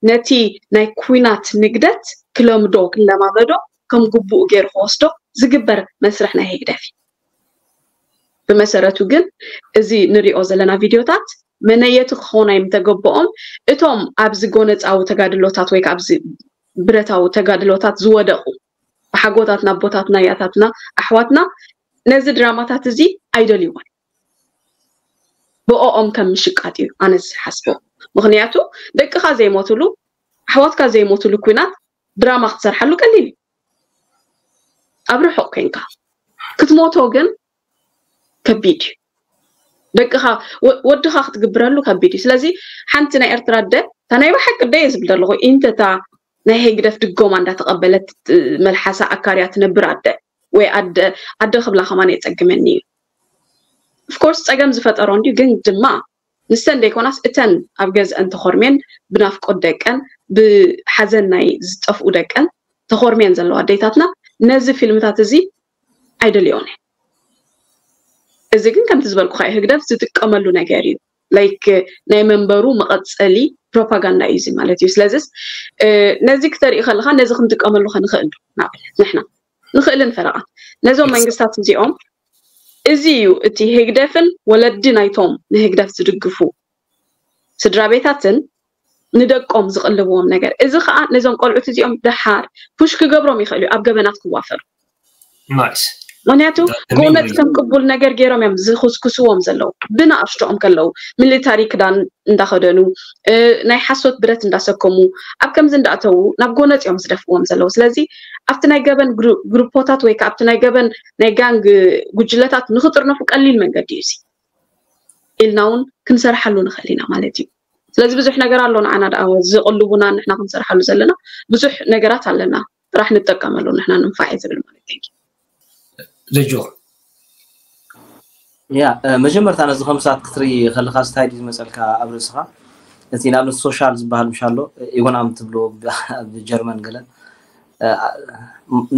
ነቲ ናይ ኩናት ንግደት ክለምዶ ክለማመዶ ከም ግቡኡ ገይሩ ክወስዶ ዝግበር መስርሕ ናይ ህግደፍ እዩ። ብመሰረቱ ግን እዚ ንሪኦ ዘለና ቪድዮታት መነየቲ ክኾኑ ኣይምተገበኦም። እቶም ኣብዚ ጎነፃዊ ተጋድሎታት ወይ ከዓ ኣብዚ ብረታዊ ተጋድሎታት ዝወደቑ ብሓጎታትና ኣቦታትና ያታትና ኣሕዋትና ነዚ ድራማታት እዚ ኣይደልይዎን። ብኦኦም ከም ምሽቃጥ እዩ ኣነ ዝሓስቦ። ምክንያቱ ደቅኻ ዘይሞትሉ ኣሕዋትካ ዘይሞትሉ ኩናት ድራማ ክትሰርሓሉ ቀሊል እዩ። ኣብ ርሑቕ ኮይንካ ክትሞቶ ግን ከቢድ እዩ። ደቅኻ ወድኻ ክትግብረሉ ከቢድ እዩ። ስለዚ ሓንቲ ናይ ኤርትራ ኣደ እታ ናይ ብሓቂ ኣደ እየ ዝብል ዘለኹ ኢንተታ ናይ ህግደፍ ድጎማ እንዳተቐበለት መልሓሳ ኣካርያ ትነብር ኣደ ወይ ኣደ ኣደ ክብላ ከማን የፀግመኒ እዩ። ኦፍኮርስ ፀገም ዝፈጠሮ እንድዩ ግን ድማ ንሰን ደይኮናስ እተን ኣብ ገዝአን ተኾርሜን ብናፍቆት ደቀን ብሓዘን ናይ ዝጠፍኡ ደቀን ተኾርሜን ዘለዋ ኣዴታትና ነዚ ፊልምታት እዚ ኣይደልዮን እየ። እዚ ግን ከምቲ ዝበልኩኻ እዩ ህግደፍ ዝጥቀመሉ ነገር እዩ። ላይክ ናይ መንበሩ መቐፀሊ ፕሮፓጋንዳ እዩ እዚ ማለት እዩ። ስለዚስ ነዚ ክተርኢ ከለካ ነዚ ክንጥቀመሉ ከንኽእል ዶ ንኣብነት ንሕና ንኽእልን ፈረቓን ነዞም መንግስታት እዚኦም እዚ እዩ እቲ ህግደፍን ወለዲ ናይቶም ንህግደፍ ዝድግፉ ስድራ ቤታትን ንደቆም ዝቕልብዎም ነገር። እዚ ከዓ ነዞም ቆልዑት እዚኦም ደሓር ፑሽ ክገብሮም ይኽእል እዩ ኣብ ገበናት ክዋፈሩ። ናይስ ምክንያቱ ጎነጽ ከም ቅቡል ነገር ገይሮም እዮም ዝኹስኩስዎም ዘለዉ። ብንኣሽቶኦም ከለዉ ሚሊታሪ ክዳን እንዳኸደኑ፣ ናይ ሓሶት ብረት እንዳሰከሙ፣ ኣብ ከምዚ እንዳእተዉ ናብ ጎነጽ እዮም ዝደፍዎም ዘለዉ። ስለዚ ኣብቲ ናይ ገበን ግሩፖታት ወይ ከዓ ኣብቲ ናይ ገበን ናይ ጋንግ ጉጅለታት ንክጥርነፉ ቀሊል መንገዲ እዩ። ኢልና እውን ክንሰርሓሉ ንኽእል ኢና ማለት እዩ። ስለዚ ብዙሕ ነገር ኣሎ ንዓና ደኣ ዝቕልቡና ንሕና ክንሰርሓሉ ዘለና ብዙሕ ነገራት ኣለና። ጥራሕ ንጠቀመሉ ንሕና ንንፋዕ ዝብል ማለት እዩ። ልጆ ያ መጀመርታ ነዚ ከም ሰዓት ክትርኢ ከለካ ስታይ ድዩ ዝመፀልካ ኣብ ርእስኻ? እቲ ንኣብነት ሶሻል ዝበሃል ምሻ ኣሎ ኢኮኖሚ ትብሎ ብጀርመን ገለን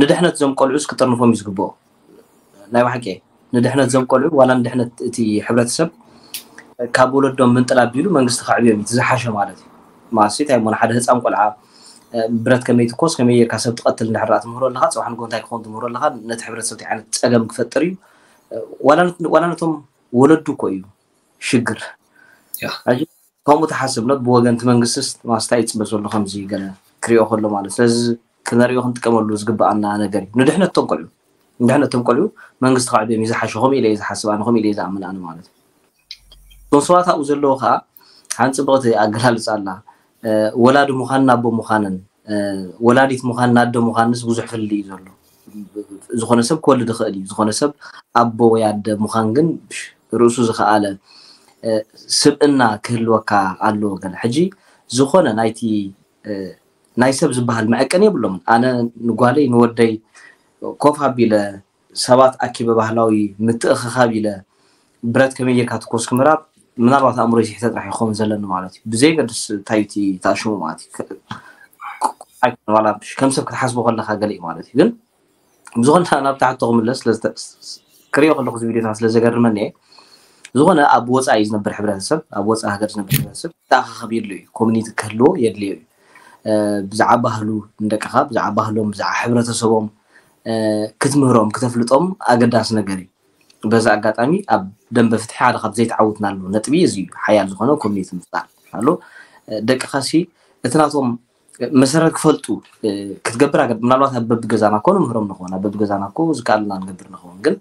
ንድሕነት ዞም ቆልዑስ ክጥርንፎም እዩ ዝግብኦ። ናይ ባሕቂ ንድሕነት ዞም ቆልዑ ዋላ ንድሕነት እቲ ሕብረተሰብ ካብ ወለዶም ምንጥል ኣቢሉ መንግስቲ ከዕብዮም እዩ ዝሓሸ ማለት እዩ። ማሲ እንታይ እሞ ንሓደ ህፃን ቆልዓ ብረት ከመይ ትኮስ ከመይ ጌርካ ሰብ ትቐትል እንድሕር ትምህሮ ኣለካ፣ ፅባሕ ንጎ እንታይ ክኸውን ትምህሮ ኣለካ፣ ነቲ ሕብረተሰብ ዓይነት ፀገም ክፈጥር እዩ። ዋላ ነቶም ወለዱ እኮ እዩ ሽግር። ከምኡ ተሓስብነት ብወገንቲ መንግስትስ ማስታ ይፅበ ዘሎ ከምዚ ገለ ክሪኦ ከሎ ማለት ስለዚ ክነሪኦ ክንጥቀመሉ ዝግበኣና ነገር እዩ። ንድሕነት ቶም ቆልዑ ንድሕነት ቶም ቆልዑ መንግስቲ ከዕብዮም እዩ ዝሓሸ። ከምኡ ኢለ ዝሓስብ ኣነ ከምኡ ኢለ ዝኣምን ኣነ ማለት እዩ። ቶም ሰባት ኣብኡ ዘለዎ ከዓ ሓንቲ ፅብቕቲ ኣገላልፃ ኣላ። ወላዲ ምዃን ናቦ ምዃንን ወላዲት ምዃን ናዶ ምዃንስ ብዙሕ ፍልልይ እዩ ዘሎ። ዝኾነ ሰብ ክወልድ ይኽእል እዩ። ዝኾነ ሰብ ኣቦ ወይ ኣደ ምዃን ግን ርእሱ ዝኸኣለ ስብእና ክህልወካ ኣለዎ። ገለ ሕጂ ዝኾነ ናይቲ ናይ ሰብ ዝበሃል መዐቀኒ የብሎምን። ኣነ ንጓለይ ንወደይ ኮፍ ኣቢለ ሰባት ኣኪበ ባህላዊ ምትእኽኻብ ኢለ ብረት ከመይ ጌርካ ትኮስ ክምራብ ምናልባት ኣእምሮ ይስሕተ ጥራሕ ይኸውን ዘለኒ ማለት እዩ። ብዘይ ገድስ እንታይ እቲ ተኣሽሙ ማለት እዩ። ከም ሰብ ክትሓስቦ ከለካ ገለ እዩ ማለት እዩ። ግን ብዝኾነ ናብ ታሕቶ ክምለስ ክሪኦ ከለኩ ቪዲዮታት ስለ ዘገርመኒ እየ። ዝኾነ ኣብ ወፃኢ ዝነብር ሕብረተሰብ ኣብ ወፃኢ ሃገር ዝነብር ሕብረተሰብ ተኣኻኸብ የድልዮ እዩ። ኮሚኒቲ ክህልዎ የድልዮ እዩ። ብዛዕባ ባህሉ ንደቅኻ ብዛዕባ ባህሎም ብዛዕባ ሕብረተሰቦም ክትምህሮም ክተፍልጦም ኣገዳሲ ነገር እዩ። በዚ ኣጋጣሚ ኣብ ደንበ ፍትሒ ሓደ ካብ ዘይተዓውትናሉ ነጥቢ እዚ እዩ። ሓያል ዝኾነ ኮሚኒቲ ምፍጣር ኣሎ። ደቅኻሲ እቲ ናቶም መሰረት ክፈልጡ ክትገብር ኣገ ምናልባት ኣብ በብገዛና እኮ ንምህሮም ንኸውን ኣብ በብገዛና እኮ ዝከኣልና ንገብር ንኸውን ግን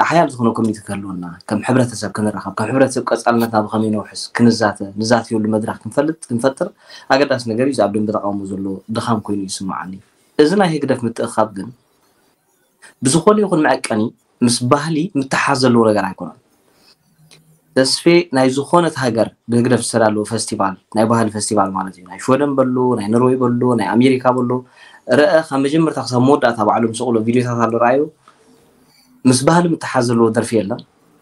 ሓያል ዝኾነ ኮሚኒቲ ክህልወና ከም ሕብረተሰብ ክንራኸብ ከም ሕብረተሰብ ቀፃልነትና ብኸመይ ነውሕስ ክንዛተ ንዛተየሉ መድረክ ክንፈልጥ ክንፈጥር ኣገዳሲ ነገር እዩ። እዚ ኣብ ደንበ ተቃውሞ ዘሎ ድኻም ኮይኑ ይስምዓኒ። እዚ ናይ ህግደፍ ምትእኻብ ግን ብዝኾነ ይኹን መዐቀኒ ምስ ባህሊ ምትሓዝ ዘለዎ ነገር ኣይኮነን። ተስፌ ናይ ዝኾነት ሃገር ብህግደፍ ዝተዳለወ ፈስቲቫል ናይ ባህሊ ፈስቲቫል ማለት እዩ። ናይ ሽወደን በሎ ናይ ኖርወይ በሎ ናይ ኣሜሪካ በሎ ረአ ካብ መጀመርታ ክሳብ መወዳእታ ባዕሎም ዝሰቕሎ ቪድዮታት ኣሎ ረኣዩ። ምስ ባህሊ ምትሓዝ ዘለዎ ደርፊ የለን።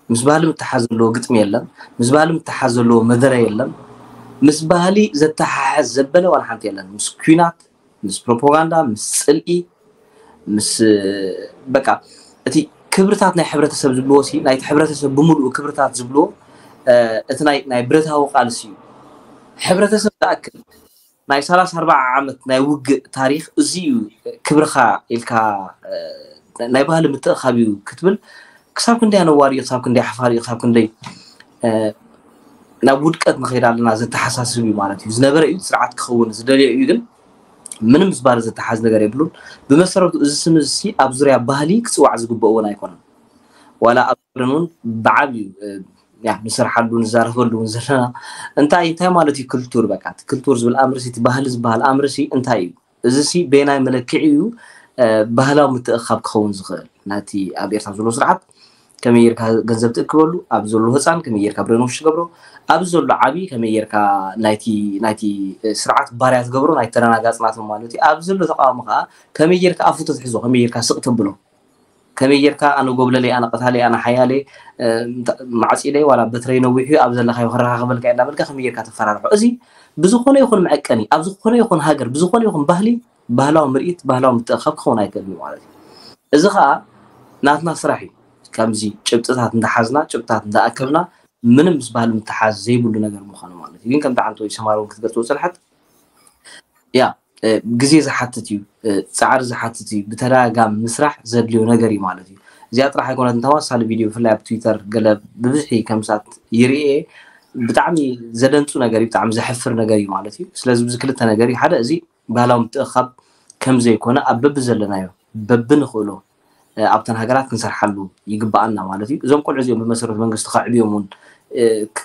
ምስ ባህሊ ምትሓዝ ዘለዎ ግጥሚ የለን። ምስ ባህሊ ምትሓዝ ዘለዎ መደረ የለን። ምስ ባህሊ ዘተሓሕዝ ዘበለ ዋላ ሓንቲ የለን። ምስ ኲናት ምስ ፕሮፓጋንዳ ምስ ፅልኢ ምስ በቃ እቲ ክብርታት ናይ ሕብረተሰብ ዝብልዎ ሲ ናይቲ ሕብረተሰብ ብምሉኡ ክብርታት ዝብልዎ እቲ ናይ ናይ ብረታዊ ቃልሲ እዩ። ሕብረተሰብ ዝኣክል ናይ ሰላሳ ኣርባዓ ዓመት ናይ ውግእ ታሪክ እዚ እዩ ክብርካ ኢልካ ናይ ባህሊ ምትእኻብ እዩ ክትብል ክሳብ ክንደይ ኣነዋሪ እዩ፣ ክሳብ ክንደይ ሓፋሪ እዩ፣ ክሳብ ክንደይ ናብ ውድቀት ንኸይድ ኣለና ዘተሓሳስብ እዩ ማለት እዩ። ዝነበረ እዩ ስርዓት ክኸውን ዝደልዮ እዩ ግን ምንም ምስ ባህሊ ዘተሓዝ ነገር የብሉን። ብመሰረቱ እዚ ስም እዚ ኣብ ዙርያ ባህሊ ክፅዋዕ ዝግበኦ እውን ኣይኮነን። ዋላ ኣብ ርን እውን ብዓብዩ ንሰርሓሉ ንዛረበሉ እውን ዘለና እንታይ እንታይ ማለት እዩ ክልቱር በቃ ክልቱር ዝብል ኣምርሲ እቲ ባህሊ ዝበሃል ኣምርሲ እንታይ እዩ? እዚ ሲ በየናይ መለክዒ እዩ ባህላዊ ምትእኻብ ክኸውን ዝኽእል? ናቲ ኣብ ኤርትራ ዘሎ ስርዓት ከመይ ጌርካ ገንዘብ ትእክበሉ፣ ኣብ ዘሎ ህፃን ከመይ ጌርካ ብሬኖሽ ትገብሮ፣ ኣብ ዘሎ ዓቢ ከመይ ጌርካ ናይቲ ናይቲ ስርዓት ባርያ ትገብሮ ናይ ተረናጋጽናቶም ማለት እዩ። ኣብ ዘሎ ተቃዋሚ ከዓ ከመይ ጌርካ ኣፉ ትትሕዞ፣ ከመይ ጌርካ ስቕ ተብሎ፣ ከመይ ጌርካ ኣነ ጎብለለይ፣ ኣነ ቀታለይ፣ ኣነ ሓያለይ፣ ማዕጺለይ ዋላ በትረይ ነዊሑ ኣብ ዘለካዮ ክረኻኸበልካ እየ እንዳበልካ ከመይ ጌርካ ተፈራርሖ። እዚ ብዝኾነ ይኹን መዐቀኒ ኣብ ዝኾነ ይኹን ሃገር ብዝኾነ ይኹን ባህሊ ባህላዊ ምርኢት ባህላዊ ምትእኻብ ክኸውን ኣይክእልን እዩ ማለት እዩ። እዚ ከዓ ናትና ስራሕ እዩ። ከምዚ ጭብጥታት እንዳሓዝና ጭብጥታት እንዳኣከብና ምንም ምስ ባህሊ ምትሓዝ ዘይብሉ ነገር ምዃኑ ማለት እዩ። ግን ከምቲ ዓንቶ ሰማር እውን ክትገልፅዎ ፀንሐት ያ ግዜ ዝሓትት እዩ፣ ፃዕሪ ዝሓትት እዩ። ብተደጋጋሚ ምስራሕ ዘድልዮ ነገር እዩ ማለት እዩ። እዚኣ ጥራሕ ኣይኮነት እንተዋሳሊ ቪድዮ ብፍላይ ኣብ ትዊተር ገለ ብብዝሒ ከምሳት ይርኤ ብጣዕሚ ዘደንፁ ነገር እዩ፣ ብጣዕሚ ዘሕፍር ነገር እዩ ማለት እዩ። ስለዚ ብዚ ክልተ ነገር እዩ ሓደ እዚ ባህላዊ ምትእኻብ ከም ዘይኮነ ኣብ በብዘለናዮ በብንኽእሎ ኣብተን ሃገራት ክንሰርሓሉ ይግባኣና ማለት እዩ። እዞም ቆልዑ እዚኦም ብመሰረት መንግስቲ ከዕብዮም እውን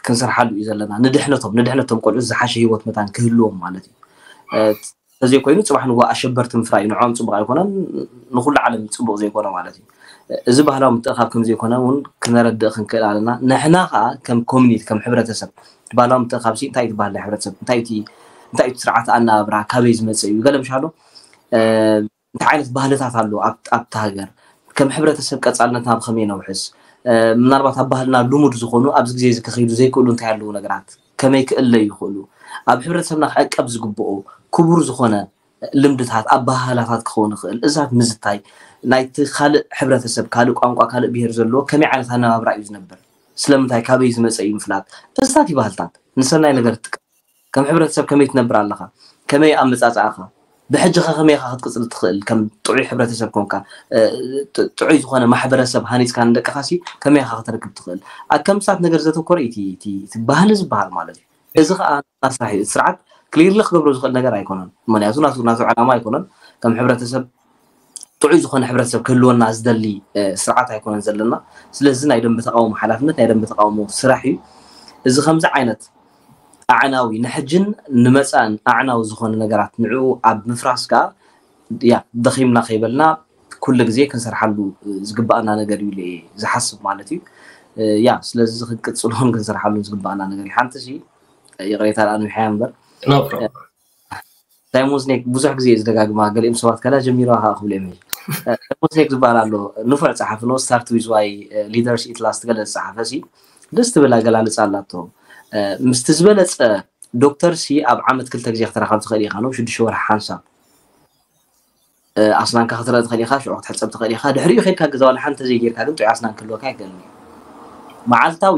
ክንሰርሓሉ እዩ ዘለና። ንድሕነቶም ንድሕነቶም ቆልዑ ዝሓሸ ህይወት መታን ክህልዎም ማለት እዩ። ተዘይኮይኑ ፅባሕ ንጎ ኣሸበርቲ ምፍራይ ንዖም ፅቡቅ ኣይኮነን፣ ንኩሉ ዓለም ፅቡቅ ዘይኮነ ማለት እዩ። እዚ ባህላዊ ምትእኻብ ከም ዘይኮነ እውን ክነረድእ ክንክእል ኣለና። ንሕና ከዓ ከም ኮሚኒቲ ከም ሕብረተሰብ ባህላዊ ምትእኻብ ሲ እንታይ እዩ ትበሃል ናይ ሕብረተሰብ እንታይ እዩ እቲ ስርዓት ኣናብራ ካበይ ዝመፀ እዩ ገለ ምሻሎ እንታይ ዓይነት ባህልታት ኣሎ ኣብቲ ሃገር ከም ሕብረተሰብ ቀፃልነትና ብከመይ ነውሕስ ምናልባት ኣብ ባህልና ልሙድ ዝኾኑ ኣብዚ ግዜ እዚ ክኸይዱ ዘይክእሉ እንታይ ኣለዉ ነገራት ከመይ ክእለዩ ይኽእሉ ኣብ ሕብረተሰብና ክዕቀብ ዝግብኦ ክቡር ዝኾነ ልምድታት ኣባሃህላታት ክኸውን ይኽእል እዛት ምዝታይ ናይቲ ካልእ ሕብረተሰብ ካልእ ቋንቋ ካልእ ብሄር ዘለዎ ከመይ ዓይነት ኣነባብራ እዩ ዝነብር ስለምንታይ ካበይ ዝመፀ እዩ ምፍላጥ እዛት ይባህልታት ንሰናይ ነገር ትጥቀም ከም ሕብረተሰብ ከመይ ትነብር ኣለኻ ከመይ ኣመፃፅኣኻ ብሕጂ ከ ከመይ ኢኻ ክትቅፅል ትኽእል ከም ጥዑይ ሕብረተሰብ ኮንካ ጥዑይ ዝኾነ ማሕበረሰብ ሃኒፅካ ንደቅኻ ሲ ከመይ ኢኻ ከተርክብ ትኽእል ኣብ ከምሳት ነገር ዘተኮረ እዩ እቲ ባህሊ ዝበሃል ማለት እዩ እዚ ከዓ ናትና ስራሕ እዩ እቲ ስርዓት ክሊርሊ ክገብሮ ዝኽእል ነገር ኣይኮነን ምክንያቱ ናቱ ናቱ ዕላማ ኣይኮነን ከም ሕብረተሰብ ጥዑይ ዝኾነ ሕብረተሰብ ክህልወና ዝደሊ ስርዓት ኣይኮነን ዘለና ስለዚ ናይ ደንበ ተቃውሞ ሓላፍነት ናይ ደንበ ተቃውሞ ስራሕ እዩ እዚ ከምዚ ዓይነት ኣዕናዊ ንሕጅን ንመፃእን ኣዕናዊ ዝኾነ ነገራት ንዕኡ ኣብ ምፍራስ ከዓ ያ ደኺምና ከይበልና ኩሉ ግዜ ክንሰርሓሉ ዝግባኣና ነገር እዩ ኢለ ዝሓስብ ማለት እዩ ያ ስለዚ ክንቅፅሎን ክንሰርሓሉ ዝግባኣና ነገር እዩ ሓንቲ ሲ ይቕሬታ ደኣ ንውሕያ እምበር ሳይሞን ስኔክ ብዙሕ ግዜ ዝደጋግማ ገሊኦም ሰባት ከላ ጀሚርዋ ከዓ ክብሉ እዮም ሳይሞን ስኔክ ዝበሃል ኣሎ ንፉዕ ፀሓፊ no start with why leaders eat last ገለ ዝፀሓፈ ሲ ደስ ትብል ኣገላልፃ ኣላቶ ምስቲ ዝበለፀ ዶክተር ሲ ኣብ ዓመት ክልተ ግዜ ክተራኸብ ትኽእል ኢኻ ነው ሽዱሽተ ወርሒ ሓንሳብ ኣስናንካ ክትረእ ትኽእል ኢኻ ሽዑ ክትሕፀብ ትኽእል ኢኻ ድሕሪኡ ከድካ ገዛ ዋላ ሓንቲ ዘይጌርካ ግን ጥዑይ ኣስናን ክህልወካ ይኽእል መዓልታዊ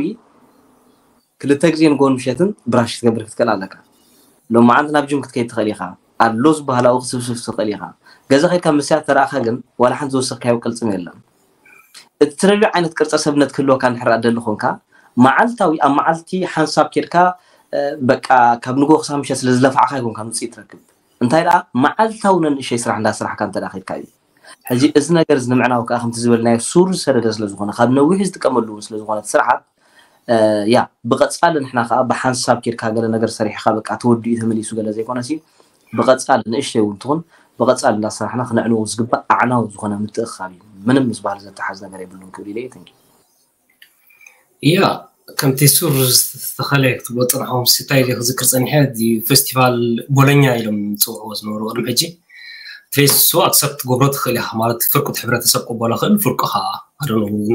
ክልተ ግዜ ንጎን ምሸትን ብራሽ ክትገብር ክትክእል ኣለካ ሎማዓንቲ ናብ ጅም ክትከይድ ትኽእል ኢኻ ኣሎ ዝበሃላዊ ክትስብስብ ትኽእል ኢኻ ገዛ ከድካ ምስያ ተረእኻ ግን ዋላ ሓንቲ ዝወሰኽካዮ ቅልፅም የለን እቲ ትደልዮ ዓይነት ቅርፀ ሰብነት ክህልወካ እንድሕር ደሊ ኮንካ መዓልታዊ ኣብ መዓልቲ ሓንሳብ ኬድካ በቃ ካብ ንጎ ክሳብ ምሸት ስለ ዝለፋዕካ ይኮንካ ምፅኢ ትረክብ እንታይ ደኣ መዓልታዊ ነንእሸይ ስራሕ እንዳስራሕካ እንተ ከድካ እዩ ሕጂ እዚ ነገር እዚ ንምዕናው ከዓ ከምቲ ዝበልናዮ ሱር ዝሰደደ ስለ ዝኾነ ካብ ነዊሑ ዝጥቀመሉ እውን ስለ ዝኾነ እቲ ስርዓት ያ ብቐፃሊ ንሕና ከዓ ብሓንሳብ ኬድካ ገለ ነገር ሰሪሕካ በቃ ተወዲኡ ተመሊሱ ገለ ዘይኮነ ሲ ብቐፃሊ ንእሽተይ እውን ትኹን ብቐፃሊ እንዳሰራሕና ክነዕንዎ ዝግባእ ኣዕናዊ ዝኾነ ምትእኻብ እዩ ምንም ምስ ባህሊ ዘተሓዝ ነገር የብሉን ክብል ኢለ ተንኪ ያ ከምቲ ሱር ዝተኸለ ክትብሎ ፅንሖም ስታይ ክዝክር ፀኒሐ ፌስቲቫል ቦለኛ ኢሎም ዝፅውዕዎ ዝነበሩ ቅድሚ ሕጂ ትሬስ እሱ ኣክሰፕት ትገብሮ ትኽእል ኢኻ ማለት ፍርቁት ሕብረተሰብ ቅበሎ ክእል ፍርቁ ከዓ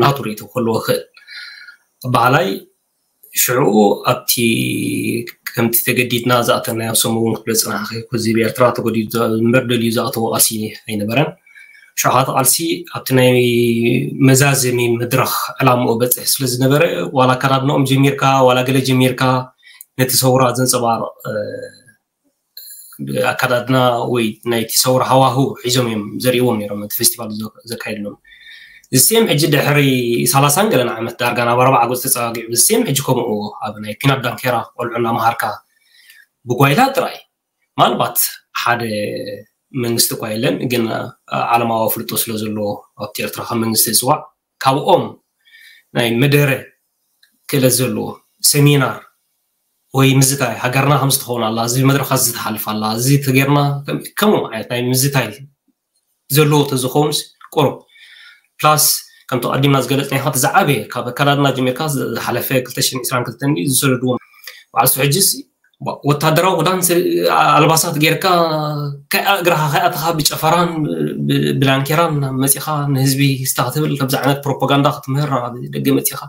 ናቱ ርእቶ ክህልዎ ክእል ባህላይ ሽዑ ኣብቲ ከምቲ ተገዲድና ዝኣተናዮ ሰሙ እውን ክትብል ዝፅናሕኺ እዚ ብኤርትራ ተገዲዱ እምበር ደልዩ ዝኣተዎ ቃልሲ ኣይነበረን። ሽዑ እቲ ቃልሲ ኣብቲ ናይ መዛዘሚ መድረኽ ዕላምኡ በፅሕ ስለ ዝነበረ ዋላ ኣከዳድንኦም ጀሚርካ ዋላ ገለ ጀሚርካ ነቲ ሰውራ ዘንፀባርቕ ኣከዳድና ወይ ናይቲ ሰውራ ሃዋህው ሒዞም እዮም ዘርእዎም ነይሮም ነቲ ፌስቲቫል ዘካየድሎም። እዚ ሴም ሕጂ ድሕሪ ሰላሳን ገለን ዓመት ዳርጋ ናብ ኣርባዓ ገፅ ተፀጋጊዑ እዚ ሴም ሕጂ ከምኡ ኣብ ናይ ኲናት ዳንኬራ ቆልዑ እናመሃርካ ብጓይላ ጥራይ ምናልባት ሓደ መንግስቲ እኳ የለን ግን ዓለማዊ ኣፍልጦ ስለ ዘለዎ ኣብቲ ኤርትራ ከም መንግስቲ ዝፅዋዕ ካብኦም ናይ መደረ ክእለት ዘለዎ ሰሚናር ወይ ምዝታይ ሃገርና ከምዚ ትኸውን ኣላ እዚ መድረኻት እዚ ትሓልፍ ኣላ እዚ ተገርና ከምኡ ዓይነት ናይ ምዝታይ ዘለዎ ተዝኸውንስ ቁሩብ ፕላስ ከምቲ ቀዲምና ዝገለፅናዮ እቲ ዝዓበየ ካብ ኣካዳድና ጀሚርካ ዝሓለፈ ክልተ ሽሕን ዕስራን ክልተን ዝሰደድዎም በዓል ሕጅስ ወታደራዊ ክዳን ኣልባሳት ጌርካ እግራኻ ከይኣተኻ ብጨፈራን ብዳንኬራን መፂኻ ንህዝቢ ስታ ክትብል ከምዚ ዓይነት ፕሮፓጋንዳ ክትምህር ደገ መፂኻ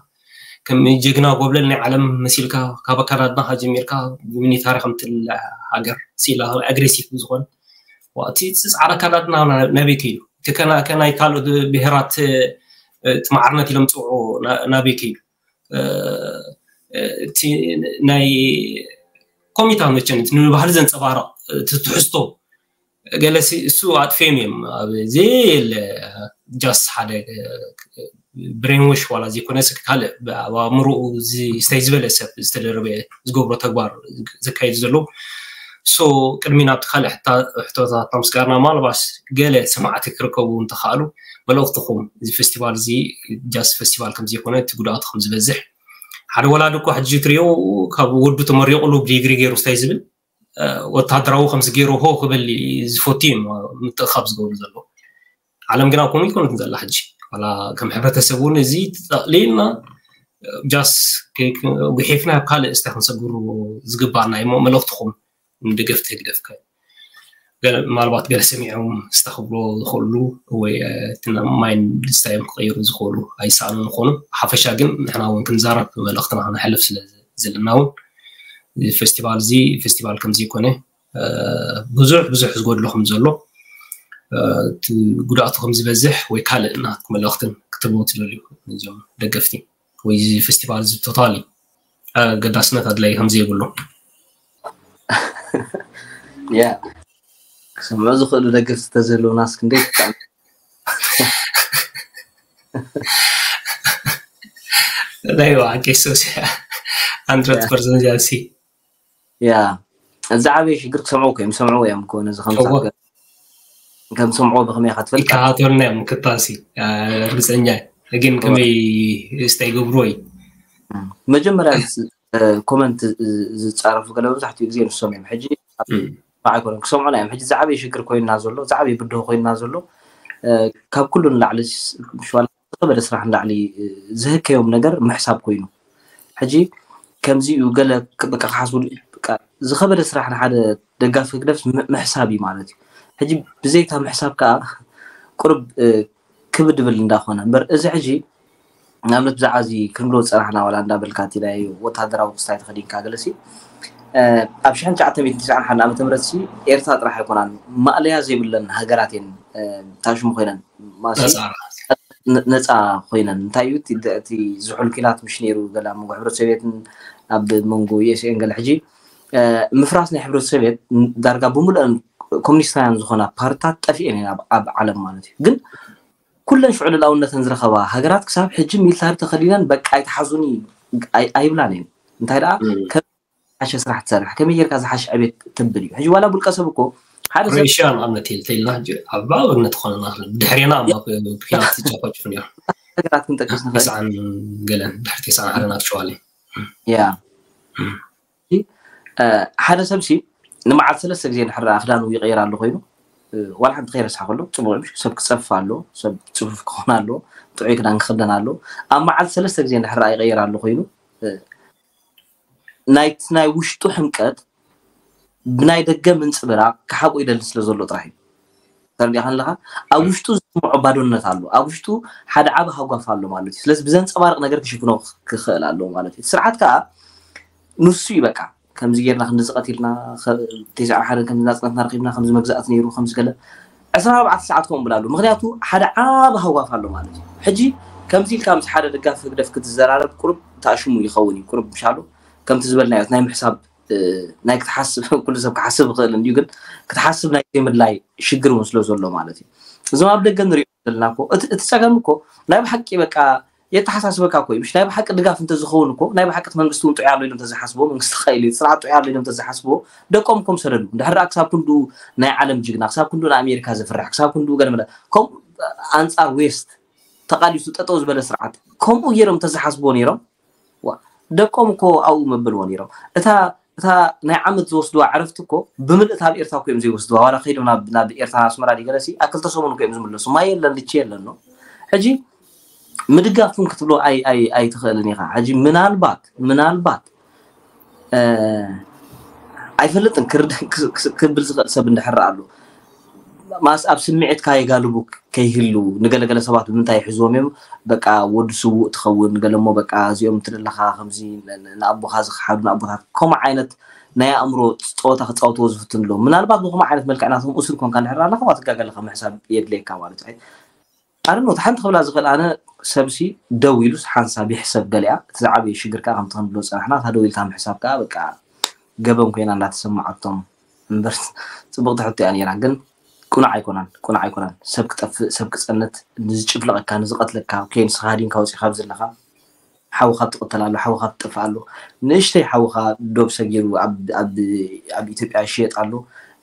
ከም ጀግና ጎብለል ናይ ዓለም መሲልካ ካብ ኣካዳድናኻ ጀሚርካ ብሚኒታሪ ከምትል ሃገር ሲላ ኣግሬሲቭ ዝኾነ እቲ ፃዕዳ ኣካዳድና ናበይ ከይዱ እቲ ከናይ ካልኦት ብሄራት እቲ ማዕርነት ኢሎም ዝፅውዑ ናበይ ከይዱ እቲ ናይ ኮሚታ መቸን እቲ ንባህሊ ዘንፀባርቕ እቲ ትሕዝቶ ገለ እሱ ኣጥፍዮም እዮም ኣብ ዘየለ ጃስ ሓደ ብሬንወሽ ዋላ ዘይኮነ ካልእ ኣብ ኣእምሮኡ ዝተይ ዝበለ ሰብ ዝተደረበ ዝገብሮ ተግባር ዘካየዱ ዘለዉ So ቅድሚ ናብቲ ካልእ ሕታ- ሕቶታት ምስጋርና ማልባስ ገለ ሰማዕቲ ክርከቡ እንተኽኣሉ፣ መልእኽትኹም፣ እዚ ፌስቲቫል እዚ ጃስ ፌስቲቫል ከም ዘይኮነ፣ እቲ ጉድኣቱ ከም ዝበዝሕ፣ ሓደ ወላዲ እኮ ሕጂ ትሪኦ ካብ ወዱ ተመሪቑሉ ብዲግሪ ገይሩ ስታይ ዝብል ወታደራዊ ከምዚ ገይሩ ሆ ክብል ዝፈቱ እዮም ምትእኻብ ዝገብሩ ዘለዉ። ዓለም ግና ከምኡ ይኮነትን ዘላ ሕጂ። ዋላ ከም ሕብረተሰብ እውን እዚ ጠቕሊልና ጃስ ጉሒፍና ኣብ ካልእ እስተ ክንሰግሩ ዝግባኣና እዩ። መልእኽትኹም ንደገፍቲ ህግደፍ ከ ገለ- ምናልባት ገለ ሰሚዖም እስተ ክብሎ ዝኽእሉ ወይ እቲ ማይንድ ስታይል ክቐይሩ ዝኽእሉ ኣይሰኣኑን ይኾኑ። ሓፈሻ ግን ንሕና እውን ክንዛረብ መልእኽትና ክነሕልፍ ስለ ዘለና እውን እዚ ፌስቲቫል እዚ ፌስቲቫል ከም ዘይኮነ ብዙሕ ብዙሕ ዝጎድሎ ከም ዘሎ እቲ ጉድኣቱ ከም ዝበዝሕ ወይ ካልእ ናትኩም መልእኽትን ክትህብዎ ትደልዩ እዞም ደገፍቲ ወይ እዚ ፌስቲቫል እዚ ቶታሊ ኣገዳስነት ኣድላይ ከም ዘይብሉ ያ ክሰምዑ ዝኽእሉ ደገፍቲ ተዘለውናስ ክንደይ ናይ ዋዓ ቄሶስ hundred percent ያሲ ያ እዚ ዓበየ ሽግር ክሰምዑ እኮ እዮም ሰምዑ እዮም እኮ ነዚ ከምሳ ከም ሰምዖ ብኸመይ ኢኻ ትፈልጥ ይከታተሉና እዮም ክታሲ ርግፀኛ ግን ከመይ ስታይ ገብርዎ እዩ መጀመርያ ኮመንት ዝፃረፉ ገለ መብዛሕትኡ ግዜ ንሶም እዮም ሕጂ ኣይኮነን ክሰምዑና እዮም ሕጂ ዝዓበየ ሽግር ኮይንና ዘሎ ዝዓበየ ብድሆ ኮይንና ዘሎ ካብ ኩሉ ንላዕሊ ዝኸበደ ስራሕ ንላዕሊ ዝህከዮም ነገር ምሕሳብ ኮይኑ ሕጂ ከምዚ እዩ ገለ በቃ ክሓስቡ ዝኸበደ ስራሕ ንሓደ ደጋፊ ህግደፍ ምሕሳብ እዩ ማለት እዩ ሕጂ ብዘይታ ምሕሳብ ከዓ ቁርብ ክብድ ድብል እንዳኾነ እምበር እዚ ሕጂ ንኣብነት ብዛዕባ እዚ ክንብሎ ዝፀናሕና ዋላ እንዳበልካ እቲ ናይ ወታደራዊ ክስታይ ተኸዲንካ ገለሲ ኣብ ሽሕን ትሽዓተ ሚእትን ትስዓን ሓደን ዓመተ ምህረት ሲ ኤርትራ ጥራሕ ኣይኮናን ማእለያ ዘይብለን ሃገራት እየን ታሽሙ ኮይነን ማሲ ነፃ ኮይነን እንታይ እዩ እቲ ዝሑል ኪናት ምሽ ነይሩ ገለ ኣብ መንጎ ሕብረት ሶቪየትን ኣብ መንጎ ዩኤስኤን ገለ ሕጂ ምፍራስ ናይ ሕብረት ሶቪየት ዳርጋ ብምሉአን ኮሚኒስታውያን ዝኾና ፓርትታት ጠፊኤን እየን ኣብ ዓለም ማለት እዩ ግን ኩለን ሽዑ ልላውነተን ዝረኸባ ሃገራት ክሳብ ሕጂ ሚልታሪ ተኸዲነን በቃ ኣይተሓዙኒ ኣይብላን እየን እንታይ ደኣ ሓሸ ስራሕ ትሰርሕ ከመይ ጌርካ ዝሓሸ ዕቤት ትብል እዩ ሕጂ ዋላ ብልቀ ሰብ እኮ ሓደ ሰብ ክሮኤሽያ ንኣብነት ኢልተልና ኣብ ኣብነት ኾነና ብድሕሬና ኩናት ዝጨፈጭፉ ነይሩ ነገራት ክንጠቅስ ንኽእል ተስዓን ገለን ድሕሪ ተስዓን ዓለን ኣክቸዋሊ ያ ሓደ ሰብ ሲ ንመዓልቲ ሰለስተ ግዜ እንድሕር ደኣ ክዳኑ ይቀይር ኣሎ ኮይኑ ዋላ ሓንቲ ከይረስሓ ከሎ ፅቡቅ እዩ ሰብ ክፀፍፍ ኣሎ ሰብ ፅፉፍ ክኾን ኣሎ ጥዑይ ክዳን ክኽደን ኣሎ ኣብ መዓልቲ ሰለስተ ግዜ እንድሕር ደኣ ይቀይር ኣሎ ኮይኑ ናይቲ ናይ ውሽጡ ሕምቀት ብናይ ደገ ምንፅብራቅ ክሓብኦ ይደሊ ስለ ዘሎ ጥራሕ እዩ ተረዲእካ ኣለካ ኣብ ውሽጡ ዝስምዖ ባዶነት ኣሎ ኣብ ውሽጡ ሓደ ዓቢ ሃጓፍ ኣሎ ማለት እዩ ስለዚ ብዘንፀባርቅ ነገር ክሽፍኖ ክኽእል ኣለዎ ማለት እዩ ስርዓት ከዓ ንሱ እዩ በቃ ከምዚ ጌርና ክንዚ ቀቲልና ተስዓ ሓደን ከምዚ ናፅነትና ረኪብና ከምዚ መግዛእቲ ነይሩ ከምዚ ገለ ዕስራ ኣርባዕተ ሰዓት ከምኡ ብላሉ ምክንያቱ ሓደ ዓቢ ሃጓፍ ኣሎ ማለት እዩ ሕጂ ከምዚ ኢልካ ምስ ሓደ ደጋፊ ህግደፍ ክትዘራረብ ቁሩብ ተኣሽሙ ይኸውን እዩ ቁሩብ ምሻሉ ከምቲ ዝበልናዮ ናይ ምሕሳብ ናይ ክትሓስብ ኩሉ ሰብ ክሓስብ ይኽእል እንድዩ ግን ክትሓስብ ናይ ዘይምድላይ ሽግር እውን ስለ ዘሎ ማለት እዩ እዞም ኣብ ደገ ንሪኦ ዘለና እኮ እቲ ፀገም እኮ ናይ ብሓቂ በቃ የተሓሳስበካ እኮ እዩ ናይ ብሓቂ ድጋፍ እንተዝኸውን እኮ ናይ ብሓቂ መንግስቲ እውን ጥዑይ ኣሎ ኢሎም ተዝሓስብዎ መንግስቲ ኸኢሉ ስርዓት ጥዑይ ኣሎ ኢሎም ተዝሓስብዎ ደቆም እኮም ሰደዱ እንድሕር ክሳብ ክንዱ ናይ ዓለም ጅግና ክሳብ ክንዱ ንኣሜሪካ ዝፍራሕ ክሳብ ክንዱ ገለመለ ከምኡ ኣንፃር ዌስት ተቃሊሱ ጠጠው ዝበለ ስርዓት ከምኡ ገይሮም ተዝሓስብዎ ነይሮም ደቆም እኮ ኣብኡ መበልዎ ነይሮም እታ እታ ናይ ዓመት ዝወስድዋ ዕረፍቲ እኮ ብምልእት ኣብ ኤርትራ እኮ እዮም ዘይወስድዋ ዋላ ከይዶም ናብ ኤርትራ ኣስመራ ዲገለሲ ኣብ ክልተ ሰሙን እኮ እዮም ዝምለሱ ማይ የለን ልቺ የለን ነው ሕጂ ምድጋፍኩም ክትብሎ ኣይትኽእልን ኢኻ ሕጂ ምናልባት ምናልባት ኣይፈልጥን ክብል ዝኽእል ሰብ እንድሕር ኣሎ ማስ ኣብ ስምዒትካ የጋልቡ ከይህሉ ንገለገለ ሰባት ብምንታይ ይሕዝዎም እዮም በቃ ወዲ ስውእ ትኸውን ገለሞ በቃ እዚኦም ትደለኻ ከምዚ ንኣቦኻ ዝክሓዱ ንኣቦታት ከምኡ ዓይነት ናይ ኣእምሮ ፀወታ ክፃወትዎ ዝፍትን ኣለዉ ምናልባት ብከምኡ ዓይነት መልክዕ ናቶም እሱር ኮንካ እንድሕር ኣለኻ ትጋገለኻ ምሕሳብ የድልየካ ማለት እዩ ኣርኖት ሓንቲ ክብላ ዝኽእል ኣነ ሰብሲ ደው ኢሉስ ሓንሳብ ይሕሰብ ገሊኣ እቲ ዝዓበየ ሽግር ከዓ ከምቲ ክንብሎ ዝፀናሕና እታ ደው ኢልታ ምሕሳብ ከዓ በቃ ገበን ኮይና እንዳተሰማዓቶም እምበር ፅብቕቲ ሕቶ እያ ነይራ ግን ቁኑዕ ኣይኮናን ቁኑዕ ኣይኮናን ሰብ ክጠፍእ ሰብ ክፀንት ንዝጭፍልቐካ ንዝቐትለካ ኦኬ ንስኻ ሃዲንካ ወፂኻ ኣብዚ ኣለኻ ሓውኻ ትቕተል ኣሎ፣ ሓውኻ ትጠፍእ ኣሎ። ንእሽተይ ሓውኻ ዶብ ሰጊሩ ኣብ ኣብ ኣብ ኢትዮጵያ ይሽየጥ ኣሎ።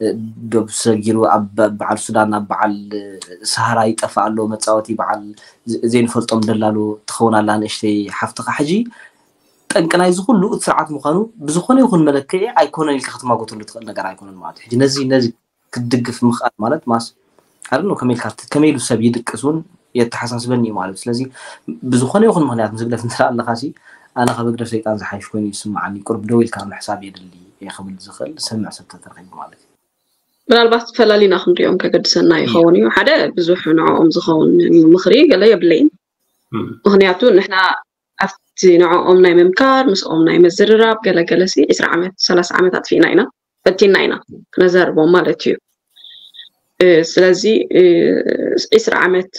እ፣ ዶብ ሰጊሩ ኣብ በ- በዓል ሱዳን፣ ኣብ በዓል ሰሃራ ይጠፍእ ኣሎ። መጻወቲ በዓል ዘ- ዘይንፈልጦም ደላሎ ትኸውን ኣላ ንእሽተይ ሓፍትኻ። ሕጂ ጠንቂ ናይዚ ኩሉ እቲ ስርዓት ምዃኑ ብዝኾነ ይኹን መለክዒ ኣይኮነን ኢልካ ክትማጎተሉ ትኽእል ነገር ኣይኮነን ማለት እዩ። ሕጂ ነዚ ነዚ ክትድግፍ ምኽኣል ማለት ማስ ኣር ነው ከመይ ኢልካ ከመይ ኢሉ ሰብ ይድቅስ እውን የተሓሳስበኒ እዩ ማለት እዩ። ስለዚ ብዝኾነ ይኹን ምኽንያት ምስ ህግደፍ እንተ ኣለኻ ሲ ኣነ ካብ ህግደፍ ሰይጣን ዝሓይሽ ኮይኑ ይስምዓኒ። ቁርብ ደው ኢልካ ምሕሳብ የድሊ እየ ክብል ዝኽእል ዝሰምዕ ሰብ ተተረኺቡ ማለት እዩ። ምናልባት ፈላሊና ክንሪኦም ከገድሰና ይኸውን እዩ። ሓደ ብዙሕ ንዕኦም ዝኸውን ምኽሪ ገለ የብለይን። ምክንያቱ ንሕና ኣብቲ ንዕኦም ናይ ምምካር ምስኦም ናይ ምዝርራብ ገለገለ ሲ ዕስራ ዓመት ሰላሳ ዓመት ኣጥፊእና ኢና ፈቲና ኢና ክነዘርቦም ማለት እዩ። ስለዚ ዕስራ ዓመት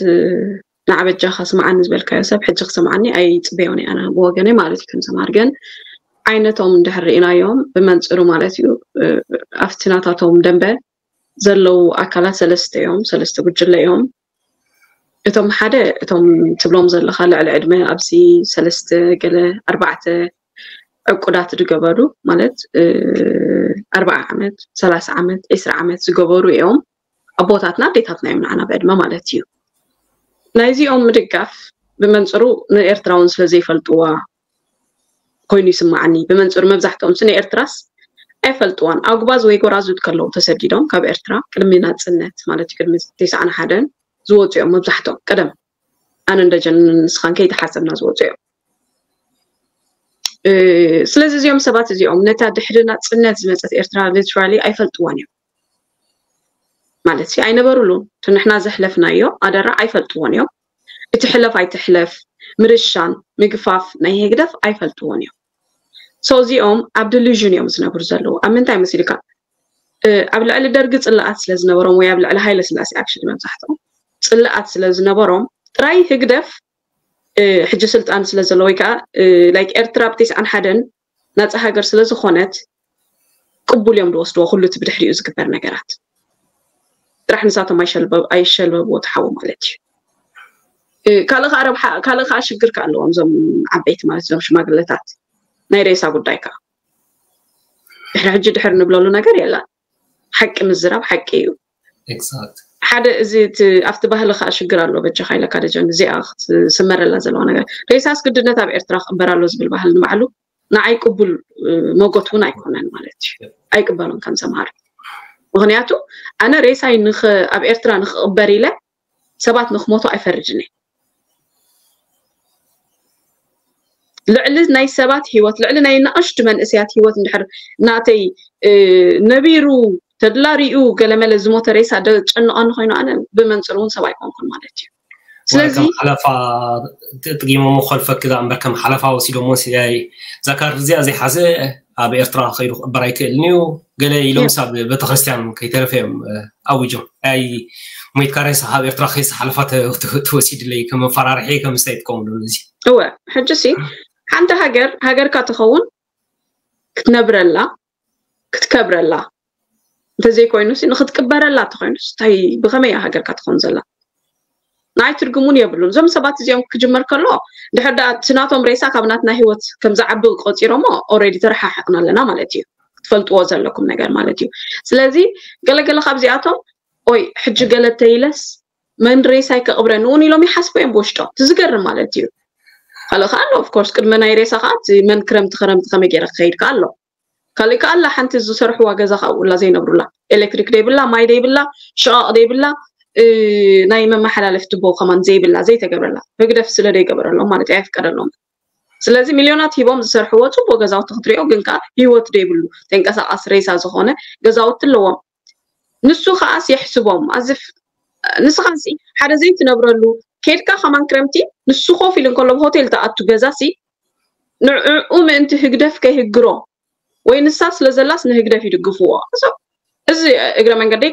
ንዓበጃኻ ስምዓኒ ዝበልካዮ ሰብ ሕጂ ክሰምዓኒ ኣይፅበዮን እየ ኣነ ብወገነይ ማለት እዩ። ከም ሰምሃር ግን ዓይነቶም እንድሕር ርኢናዮም ብመንፅሩ ማለት እዩ ኣብቲ ናታቶም ደንበ ዘለዉ ኣካላት ሰለስተ እዮም፣ ሰለስተ ጉጅለ እዮም። እቶም ሓደ እቶም ትብሎም ዘለኻ ልዕሊ ዕድመ ኣብዚ ሰለስተ ገለ ኣርባዕተ ዕቁዳት ዝገበሩ ማለት ኣርባዓ ዓመት ሰላሳ ዓመት ዕስራ ዓመት ዝገበሩ እዮም። ኣቦታትና ኣዴታትና እዮም ንዓና ብዕድመ ማለት እዩ። ናይዚኦም ምድጋፍ ብመንፅሩ ንኤርትራውን ስለ ዘይፈልጥዋ ኮይኑ ይስምዓኒ። ብመንፅሩ መብዛሕትኦም ሲ ንኤርትራስ ኣይፈልጥዋን። ኣጉባዝ ወይ ጎራዙት ከለዉ ተሰዲዶም ካብ ኤርትራ ቅድሚ ናፅነት ማለት እዩ ቅድሚ ተስዓን ሓደን ዝወፁ እዮም መብዛሕትኦም ቀደም ኣነን ደጀንን ንስኻን ከይተሓሰብና ዝወፁ እዮም። ስለዚ እዚኦም ሰባት እዚኦም ነታ ድሕሪ ናፅነት ዝመፀት ኤርትራ literally ኣይፈልጥዋን እዮም ማለት ሲ ኣይነበሩሉን። እቲ ንሕና ዘሕለፍናዮ ኣደራ ኣይፈልጥዎን እዮም። እቲ ሕለፍ ኣይትሕለፍ ምርሻን ምግፋፍ ናይ ህግደፍ ኣይፈልጥዎን እዮም። So እዚኦም ኣብ delusion እዮም ዝነብሩ ዘለዉ። ኣብ ምንታይ መሲልካ ኣብ ልዕሊ ደርጊ ፅላኣት ስለ ዝነበሮም ወይ ኣብ ልዕሊ ሃይለ ስላሴ actually መብዛሕትኦም ፅላኣት ስለ ዝነበሮም ጥራይ ህግደፍ ሕጂ ስልጣን ስለ ዘሎ ወይ ከዓ like ኤርትራ ብ ተስዓን ሓደን ናፃ ሃገር ስለ ዝኾነት ቅቡል እዮም ዝወስድዎ ኩሉ እቲ ብድሕሪኡ ዝግበር ነገራት ጥራሕ ንሳቶም ኣይሸልበብዎ ትሓዉ ማለት እዩ። ካልእ ከዓ ረብሓ ካልእ ከዓ ሽግር ከዓ ኣለዎም እዞም ዓበይቲ ማለት እዞም ሽማግለታት ናይ ሬሳ ጉዳይ ከዓ ድሕሪ ሕጂ ድሕር ንብለሉ ነገር የለን። ሓቂ ምዝራብ ሓቂ እዩ። ሓደ እዚ ኣብቲ ባህሊ ከዓ ሽግር ኣሎ በጃኻ ኢለካ ደጀን እዚኣ ክትስመረላ ዘለዋ ነገር ሬሳ ኣስግድነት ኣብ ኤርትራ ክቕበር ኣሎ ዝብል ባህሊ ንባዕሉ ንዓይ ቅቡል መጎት እውን ኣይኮነን ማለት እዩ። ኣይቅበሉን ከም ሰምሃር ምክንያቱ ኣነ ሬሳይ ኣብ ኤርትራ ንክቕበር ኢለ ሰባት ንክሞቱ ኣይፈርድን እየ። ልዕሊ ናይ ሰባት ህይወት ልዕሊ ናይ ንኣሽቱ መንእሰያት ህይወት እንድሕር ናተይ ነቢሩ ተድላ ሪኡ ገለመለ ዝሞተ ሬሳ ደጨንቐኒ ኮይኑ ኣነ ብመንፅር እውን ሰብ ኣይኮንኩን ማለት እዩ። ስለዚ ሓለፋ ጥጊሞ መኮልፈኪ ዛ እምበር ከም ሓለፋ ወሲዶሞ ሲያይ እዛ ካርድ እዚኣ ዘይሓዘ ኣብ ኤርትራ ከይዱ ክቕበር ኣይክእልን እዩ ገለ ኢሎም ሳብ ቤተክርስትያን ከይተረፈ እዮም ኣዊጆም ኣይ ሞይትካ ሬሳ ካብ ኤርትራ ከይሳ ሓለፋ ተወሲድለይ ከም መፈራርሒ ከም ስታይ ይጥቀምሉ እዚ እወ ሕጂ ሲ ሓንቲ ሃገር ሃገርካ ትኸውን ክትነብረላ ክትከብረላ እንተዘይኮይኑ ንክትቅበረላ ተኮይኑ እንታይ ብከመይ ሃገርካ ትኸውን ዘላ ንዓይ ትርጉሙን የብሉን። እዞም ሰባት እዚኦም ክጅመር ከሎ ድሕር ዳ እቲ ናቶም ሬሳ ካብ ናትና ህይወት ከም ዝዓቢ ቆፂሮሞ already ተረሓሕቕና ኣለና ማለት እዩ። ክትፈልጥዎ ዘለኩም ነገር ማለት እዩ። ስለዚ ገለገለ ካብዚኣቶም ኦይ ሕጂ ገለ ተይለስ መን ሬሳይ ከቕብረኒ እውን ኢሎም ይሓስቡ እዮም ብውሽጦም። እቲ ዝገርም ማለት እዩ። ካልእ ከዓ ኣሎ of course ቅድሚ ናይ ሬሳ ከዓ እቲ መን ክረምቲ ክረምቲ ከመይ ገይረ ክኸይድ ከዓ ኣሎ። ካልእ ከዓ ኣላ ሓንቲ ዝሰርሕዋ ገዛ ከዓ ኣብኡላ ዘይነብሩላ ኤሌክትሪክ ደይብላ ማይ ደይብላ ሸቓቕ ደይብላ ናይ መመሓላለፊ ትቦ ከማን ዘይብላ ዘይተገብረላ ህግደፍ ስለ ደይገበረሎም ማለት እዩ ኣይፍቀደሎም። ስለዚ ሚልዮናት ሂቦም ዝሰርሕዎ ፅቡቅ ገዛውቲ ክትሪኦ ግን ከዓ ህይወት ደይብሉ ተንቀሳቃሲ ሬሳ ዝኾነ ገዛውቲ ኣለዎም። ንሱ ከዓስ የሕስቦም ኣዝፍ ንስኻሲ ሓደ ዘይትነብረሉ ኬድካ ከማን ክረምቲ ንሱ ኮፍ ኢሉ እንከሎ ብሆቴል ተኣቱ ገዛሲ ንዕኡ ምእንቲ ህግደፍ ከይህግሮ ወይ ንሳ ስለ ዘላስ ንህግደፍ ይድግፍዎ። እዚ እግረ መንገደይ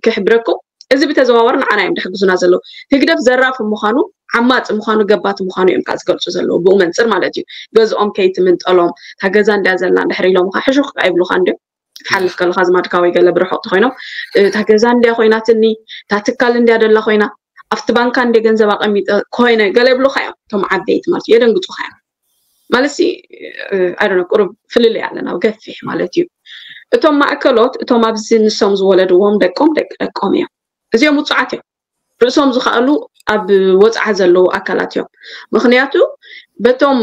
ክሕብረኩም እዚ ብተዘዋወር ንዓና እዮም ድሕግዙና ዘለዉ። ህግደፍ ዘራፊ ምዃኑ ዓማፂ ምዃኑ ገባቲ ምዃኑ እዮም ከዓ ዝገልፁ ዘለዉ ብኡ መንፅር ማለት እዩ። ገዝኦም ከይትምንጠሎም እታ ገዛ እንድያ ዘላ እንድሕር ኢሎም ከዓ ሕሹኽ ከዓ ይብሉካ እንድዮም ክትሓልፍ ከለካ ዝማድካ ወይ ገለ ብርሑቕ ተኮይኖም እታ ገዛ እንድያ ኮይናትኒ እታ ትካል እንድያ ደላ ኮይና ኣብቲ ባንካ እንደ ገንዘብ ኣቐሚጠ ኮይነ ገለ ይብሉካ እዮም እቶም ዓበይቲ ማለት እዩ የደንግፁካ እዮም። ማለት ሲ ቁሩብ ፍልልይ ኣለና ገፊሕ ማለት እዩ። እቶም ማእከሎት እቶም ኣብዚ ንሶም ዝወለድዎም ደቆም ደቂ ደቆም እዮም። እዚኦም ውፁዓት እዮም። ርእሶም ዝኸኣሉ ኣብ ወፅዓ ዘለዉ ኣካላት እዮም። ምክንያቱ በቶም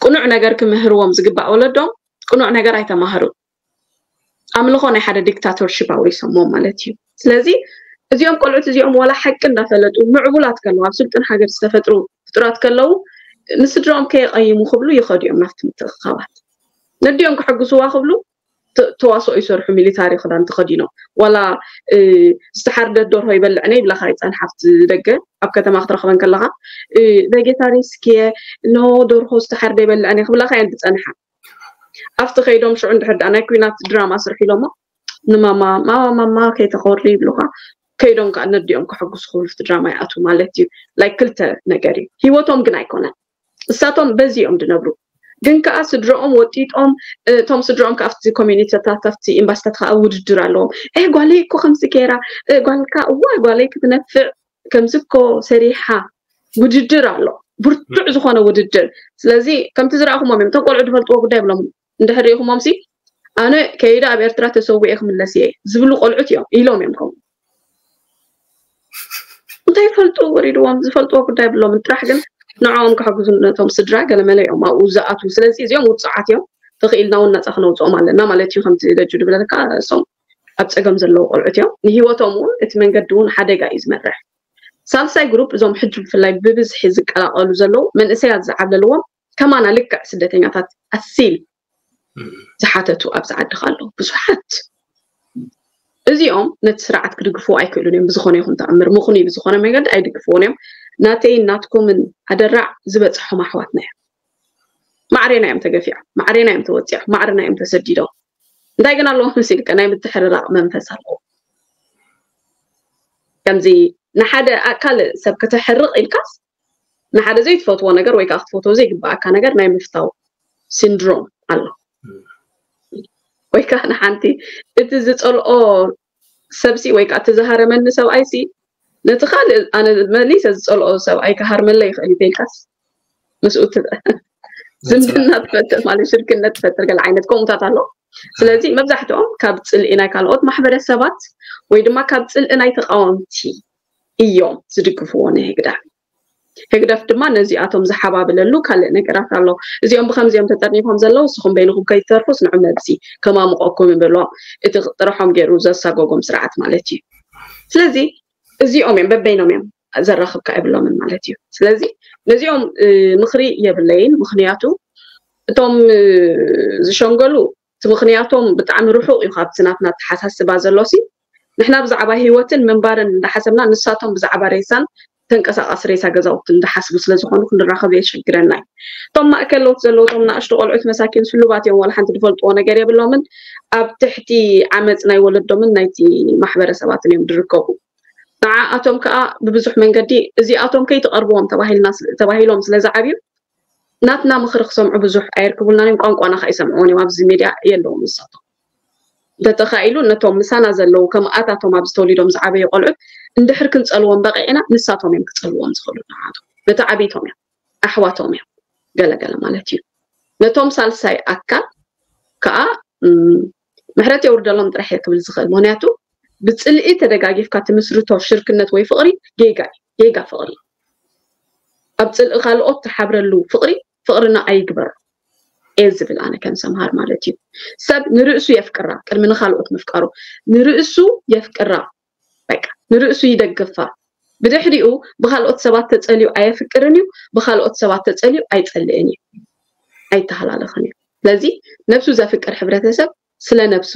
ቅኑዕ ነገር ክምህርዎም ዝግባእ ወለዶም ቅኑዕ ነገር ኣይተማህሩ። ኣምልኾ ናይ ሓደ ዲክታቶርሽፕ ኣውሪሶምዎም ማለት እዩ። ስለዚ እዚኦም ቆልዑት እዚኦም ዋላ ሓቂ እንዳፈለጡ ምዕቡላት ከለዉ ኣብ ስልጡን ሃገር ዝተፈጥሩ ፍጡራት ከለዉ ንስድራኦም ከየቐይሙ ክብሉ ይኸዱ እዮም ናብቲ ምትእኽኻባት። ነዲኦም ክሕግስዋ ክብሉ ተዋስኦ ይሰርሑ፣ ሚሊታሪ ክዳን ተኸዲኖም። ዋላ ዝተሓርደት ደርሆ ይበልዕነ ይብላኻ ይፀንሓ ኣብቲ ደገ ኣብ ከተማ ክትረኽበን ከለኻ። ቬጌታሪስክየ፣ ኖ፣ ደርሆ ዝተሓርደ ይበልዕነ ክብላኻ እየን ዝፀንሓ። ኣብቲ ከይዶም ሽዑ እንድሕር ደኣ ናይ ኲናት ድራማ ስርሑ ኢሎሞ ንማማ ማማ ማማ ከይተኾሪ ይብሉኻ። ከይዶም ከዓ ነዲኦም ከሐጉሱ ክብሉ ድራማ ይኣትዉ ማለት እዩ። ላይክ ክልተ ነገር እዩ። ህይወቶም ግን ኣይኮነን። እሳቶም በዚ እዮም ዝነብሩ። ግን ከዓ ስድረኦም ወጢጦም እቶም ስድረኦም ከዓ ኣብቲ ኮሚኒቲታት ኣብቲ ኤምባሲታት ከዓ ውድድር ኣለዎም። እ ጓለይ እኮ ከምዚ ገይራ፣ እ ጓልካ እዋ ጓለይ ክትነፍዕ ከምዚ እኮ ሰሪሓ ውድድር ኣሎ፣ ብርቱዕ ዝኾነ ውድድር። ስለዚ ከምቲ ዝረኣኹሞም እዮም። እቶም ቆልዑ ዝፈልጥዎ ጉዳይ ብሎም እንድሕር ርኢኹሞም ሲ ኣነ ከይደ ኣብ ኤርትራ ተሰዊኤ ክምለስ እየ ዝብሉ ቆልዑት እዮም ኢሎም እዮም ከምኡ እንታይ ይፈልጡ ወሪድዎም ዝፈልጥዎ ጉዳይ ብሎም ጥራሕ ግን ንዕኦም ከሕግዙ ነቶም ስድራ ገለመለ እዮም ኣብኡ ዝኣትዉ። ስለዚ እዚኦም ውፅዓት እዮም። ተኽኢልና እውን ነፃ ክነውፅኦም ኣለና ማለት እዩ። ከምቲ ደጁ ድብለካ እሶም ኣብ ፀገም ዘለዉ ቆልዑት እዮም። ንህይወቶም እውን እቲ መንገዲ እውን ሓደጋ እዩ ዝመርሕ። ሳልሳይ ግሩፕ እዞም ሕጂ ብፍላይ ብብዝሒ ዝቀላቀሉ ዘለዉ መንእሰያት ዝዓብለልዎም ከማና ልክዕ ስደተኛታት ኣሲል ዝሓተቱ ኣብዚ ዓዲ ኣሎ ብዙሓት። እዚኦም ነቲ ስርዓት ክድግፍዎ ኣይክእሉን እዮም። ብዝኾነ ይኹን ተኣምር ምኹን ኢሉ ዝኾነ መንገዲ ኣይድግፍዎን እዮም። ናተይን ናትኩምን ኣደራዕ ዝበፅሖም ኣሕዋትና እዮም። ማዕሬና እዮም ተገፊዖም፣ ማዕሬና እዮም ተወፂዖም፣ ማዕርና እዮም ተሰዲዶም። እንታይ ግን ኣለዎም መሲልካ ናይ ምትሕርራቕ መንፈስ ኣለዎም። ከምዚ ንሓደ ካልእ ሰብ ከተሕርቕ ኢልካስ ንሓደ ዘይትፈትዎ ነገር ወይ ከዓ ክትፈትዎ ዘይግባኣካ ነገር ናይ ምፍታው ሲንድሮም ኣሎ። ወይ ከዓ ንሓንቲ እቲ ዝፀልኦ ሰብሲ ወይ ከዓ እቲ ዝሃረመኒ ሰብኣይሲ ነቲ ካልእ ኣነ መሊሰ ዝፀልኦ ሰብኣይ ክሃርመለይ ይኽእል እዩ ተልካስ ምስኡ ዝምድና ትፈጥር ማለት ሽርክነት ትፈጥር ገለ ዓይነት ከምኡታት ኣሎ። ስለዚ መብዛሕትኦም ካብ ፅልኢ ናይ ካልኦት ማሕበረሰባት ወይ ድማ ካብ ፅልኢ ናይ ተቃወምቲ እዮም ዝድግፍዎ ንህግደፍ። ህግደፍ ድማ ነዚኣቶም ዝሓባብለሉ ካልእ ነገራት ኣሎ። እዚኦም ብከምዚኦም ተጠርኒፎም ዘለዉ ንስኹም በይንኹም ከይትተርፉስ ንዑ መብሲ ከማምቆኩም ይብልዎም። እቲ ጥርሖም ገይሩ ዘሳጎጎም ስርዓት ማለት እዩ። ስለዚ እዚኦም እዮም በበይኖም እዮም ዘራኽብካ የብሎምን ማለት እዩ። ስለዚ ነዚኦም ምኽሪ የብለይን። ምኽንያቱ እቶም ዝሸንገሉ እቲ ምኽንያቶም ብጣዕሚ ርሑቕ እዩ ካብቲ ናትና ኣተሓሳስባ ዘሎ ሲ ንሕና ብዛዕባ ህይወትን ምንባርን እንዳሓሰብና ንሳቶም ብዛዕባ ሬሳን ተንቀሳቃሲ ሬሳ ገዛውቲ እንዳሓስቡ ስለዝኾኑ ክንራኸብ የሸግረና እዩ። እቶም ማእከል ለውጥ ዘለዉ እቶም ናእሽቱ ቆልዑት መሳኪን ስሉባት እዮም ዋላ ሓንቲ ዝፈልጥዎ ነገር የብሎምን ኣብ ትሕቲ ዓመፅ ናይ ወለዶምን ናይቲ ማሕበረሰባትን እዮም ዝርከቡ። ንዓኣቶም ከዓ ብብዙሕ መንገዲ እዚኣቶም ከይትቐርብዎም ተባሂሎም ስለዝዓብዩ ናትና ምኽሪ ክሰምዑ ብዙሕ ኣየርክቡልናን እዮም ቋንቋና ከዓ ይሰምዕዎን እዮም ኣብዚ ሚድያ የለዎም ንሳቶም እንተተኻኢሉ ነቶም ምሳና ዘለዉ ከምኣታቶም ኣብዚ ተወሊዶም ዝዓበዩ ቆልዑት እንድሕር ክንፀልዎም በቂዕና ንሳቶም እዮም ክፀልዎም ዝኽእሉ ንዓቶም ነቲ ዓብይቶም እዮም ኣሕዋቶም እዮም ገለገለ ማለት እዩ ነቶም ሳልሳይ ኣካል ከዓ ምሕረት የውርደሎም ጥራሕ እየ ክብል ዝኽእል ምክንያቱ ብፅልኢ ተደጋጊፍካ ትምስርቶ ሽርክነት ወይ ፍቕሪ ጌጋ ጌጋ ፍቕሪ ኣብ ፅልኢ ካልኦት ትሓብረሉ ፍቕሪ ፍቕርና ኣይግበሮ እየ ዝብል ኣነ ከም ሰምሃር ማለት እዩ ሰብ ንርእሱ የፍቅራ ቅድሚ ንካልኦት ምፍቃሩ ንርእሱ የፍቅራ በቃ ንርእሱ ይደግፋ ብድሕሪኡ ብካልኦት ሰባት ተፀልዩ ኣየፍቅርን እዩ ብካልኦት ሰባት ተፀልዩ ኣይፀልእን እዩ ኣይተሃላለኽን እዩ ስለዚ ነብሱ ዘፍቅር ሕብረተሰብ ስለ ነብሱ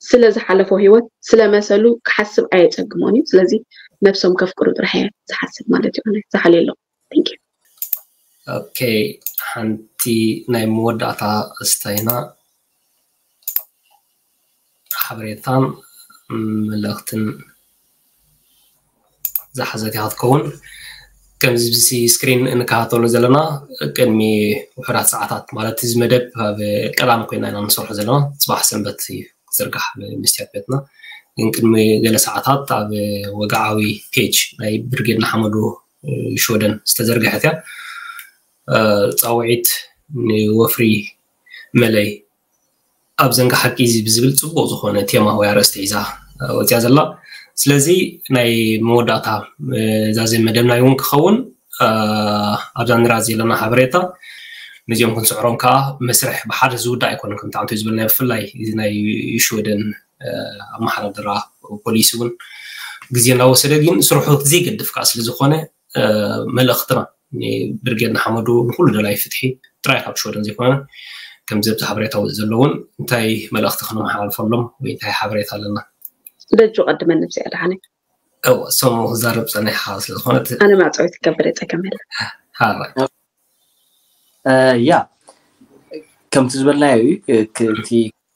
ስለ ዝሓለፎ ህይወት ስለ መሰሉ ክሓስብ ኣየፀግሞን እዩ ስለዚ ነብሶም ከፍቅሩ ጥራሕ እየ ዝሓስብ ማለት እዩ ኣነ ዝሓልየ ኣለኹ thank you okay ሓንቲ ናይ መወዳእታ እስታይና ሓበሬታን መልእኽትን ዝሓዘት እያ ክትከውን ከምዚ ብዚ ስክሪን እንከታተሎ ዘለና ቅድሚ ውሕዳት ሰዓታት ማለት እዚ መደብ ኣብ ቀዳም ኮይና ኢና ንሰርሖ ዘለና ፅባሕ ሰንበት እዩ ክዝርጋሕ ብምስትያት ቤትና ግን ቅድሚ ገለ ሰዓታት ኣብ ወግዓዊ ፔጅ ናይ ብርጌድ ንሓመዱ ሽወደን ዝተዘርግሐት እያ ፃውዒት ንወፍሪ መለይ ኣብ ዘንጋ ሓቂ እዚ ብዝብል ጽቡቕ ዝኾነ ቴማ ወይ ኣርእስቲ ሒዛ ወፅያ ዘላ። ስለዚ ናይ መወዳእታ እዛ ዘይ መደብና እውን ክኸውን ኣብዛ ንራ ዘለና ሓበሬታ ነዚኦም ክንስዕሮም ከዓ መስርሕ ብሓደ ዝውዳእ ኣይኮነን። ከምቲ ዓንቶ ዝበልና ብፍላይ እዚ ናይ ሽወደን ኣመሓዳድራ ፖሊሲ እውን ግዜ እናወሰደ ግን ስርሑ ዘይገድፍ ከዓ ስለዝኾነ መልእኽትና ብርጌድ ንሓመዱ ንኩሉ ደላይ ፍትሒ ጥራይ ካብ ሽወደን ዘይኮነ ከምዚ ኣብዚ ሓበሬታ ውፅእ ዘለውን እንታይ መልእኽቲ ክነመሓላልፈሎም ወይ እንታይ ሓበሬታ ኣለና? ደጁ ቀድመ ንብዚኣ ደሓነ እወ ሰሙ ክዛረብ ፀኒሓ ስለዝኮነት ኣነ ማዕፀዊ ትገብር የፀገም የለ ሓራይ ያ ከምቲ ዝበልናዮ እዩ እቲ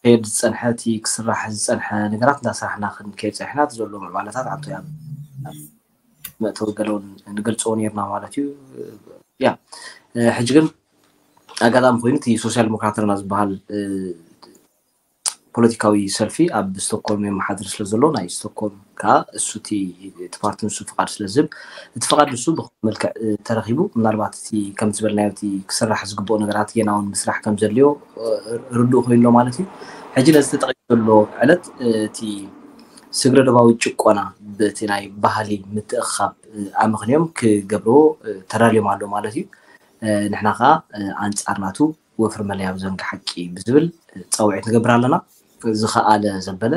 ክሄድ ዝፀንሐ እቲ ክስራሕ ዝፀንሐ ነገራት እንዳሰራሕና ክንከይድ ፀኒሕና እቲ ዘሎ ምዕባለታት ዓንቶ ያ መእተዊ ገለውን ንገልፅዎ ነርና ማለት እዩ። ያ ሕጂ ግን ኣጋጣሚ ኮይኑ እቲ ሶሻል ዲሞክራትና ዝበሃል ፖለቲካዊ ሰልፊ ኣብ ስቶኮልም የመሓድር ስለ ዘሎ ናይ ስቶኮልም ከዓ እሱ እቲ ፓርቲ ንሱ ፍቃድ ስለ ዝህብ እቲ ፍቃድ ንሱ ብመልክዕ ተረኪቡ ምናልባት እቲ ከም ዝበልናዮ እቲ ክስራሕ ዝግብኦ ነገራት ጌና እውን ምስራሕ ከም ዘድልዮ ርዱእ ኮይኑ ኣሎ ማለት እዩ። ሕጂ ነዚ ተጠቂሱ ዘሎ ዕለት እቲ ስግረ ዶባዊ ጭቆና በቲ ናይ ባህሊ ምትእኻብ ኣመኽንዮም ክገብርዎ ተዳልዮም ኣሎ ማለት እዩ። ንሕና ከዓ ኣንፃር ናቱ ወፍሪ መለያ ብዘንጊ ሓቂ ብዝብል ፀውዒት ንገብር ኣለና። ዝኸኣለ ዘበለ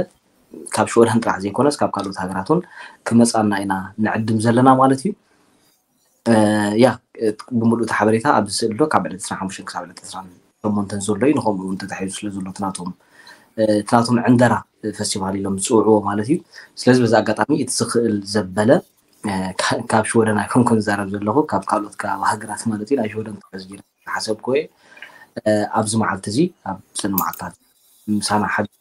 ካብ ሽወደን ጥራሕ ዘይኮነስ ካብ ካልኦት ሃገራት እውን ክመፃና ኢና ንዕድም ዘለና ማለት እዩ። ያ ብምሉእ እቲ ሓበሬታ ኣብዚ ስእሊ ዶ ካብ ዕለት ዕስራን ሓሙሽተን ክሳብ ዕለት ዕስራን ሸሞንተን ዘሎ እዩ። ንኸምኡ እውን ተታሒዙ ስለ ዘሎ ትናቶም ትናቶም ዕንደራ ፈስቲቫል ኢሎም ዝፅውዕዎ ማለት እዩ። ስለዚ በዚ ኣጋጣሚ እቲ ዝኽእል ዘበለ ካብ ሽወደን ኣይኮንኩን ዝዛረብ ዘለኹ ካብ ካልኦት ከባቢ ሃገራት ማለት እዩ ናይ ሽወደን ተዝጊረ ሓሰብኩ እየ ኣብዚ መዓልቲ እዚ ኣብ ሰኒ መዓልታት ምሳና ሓቢሩ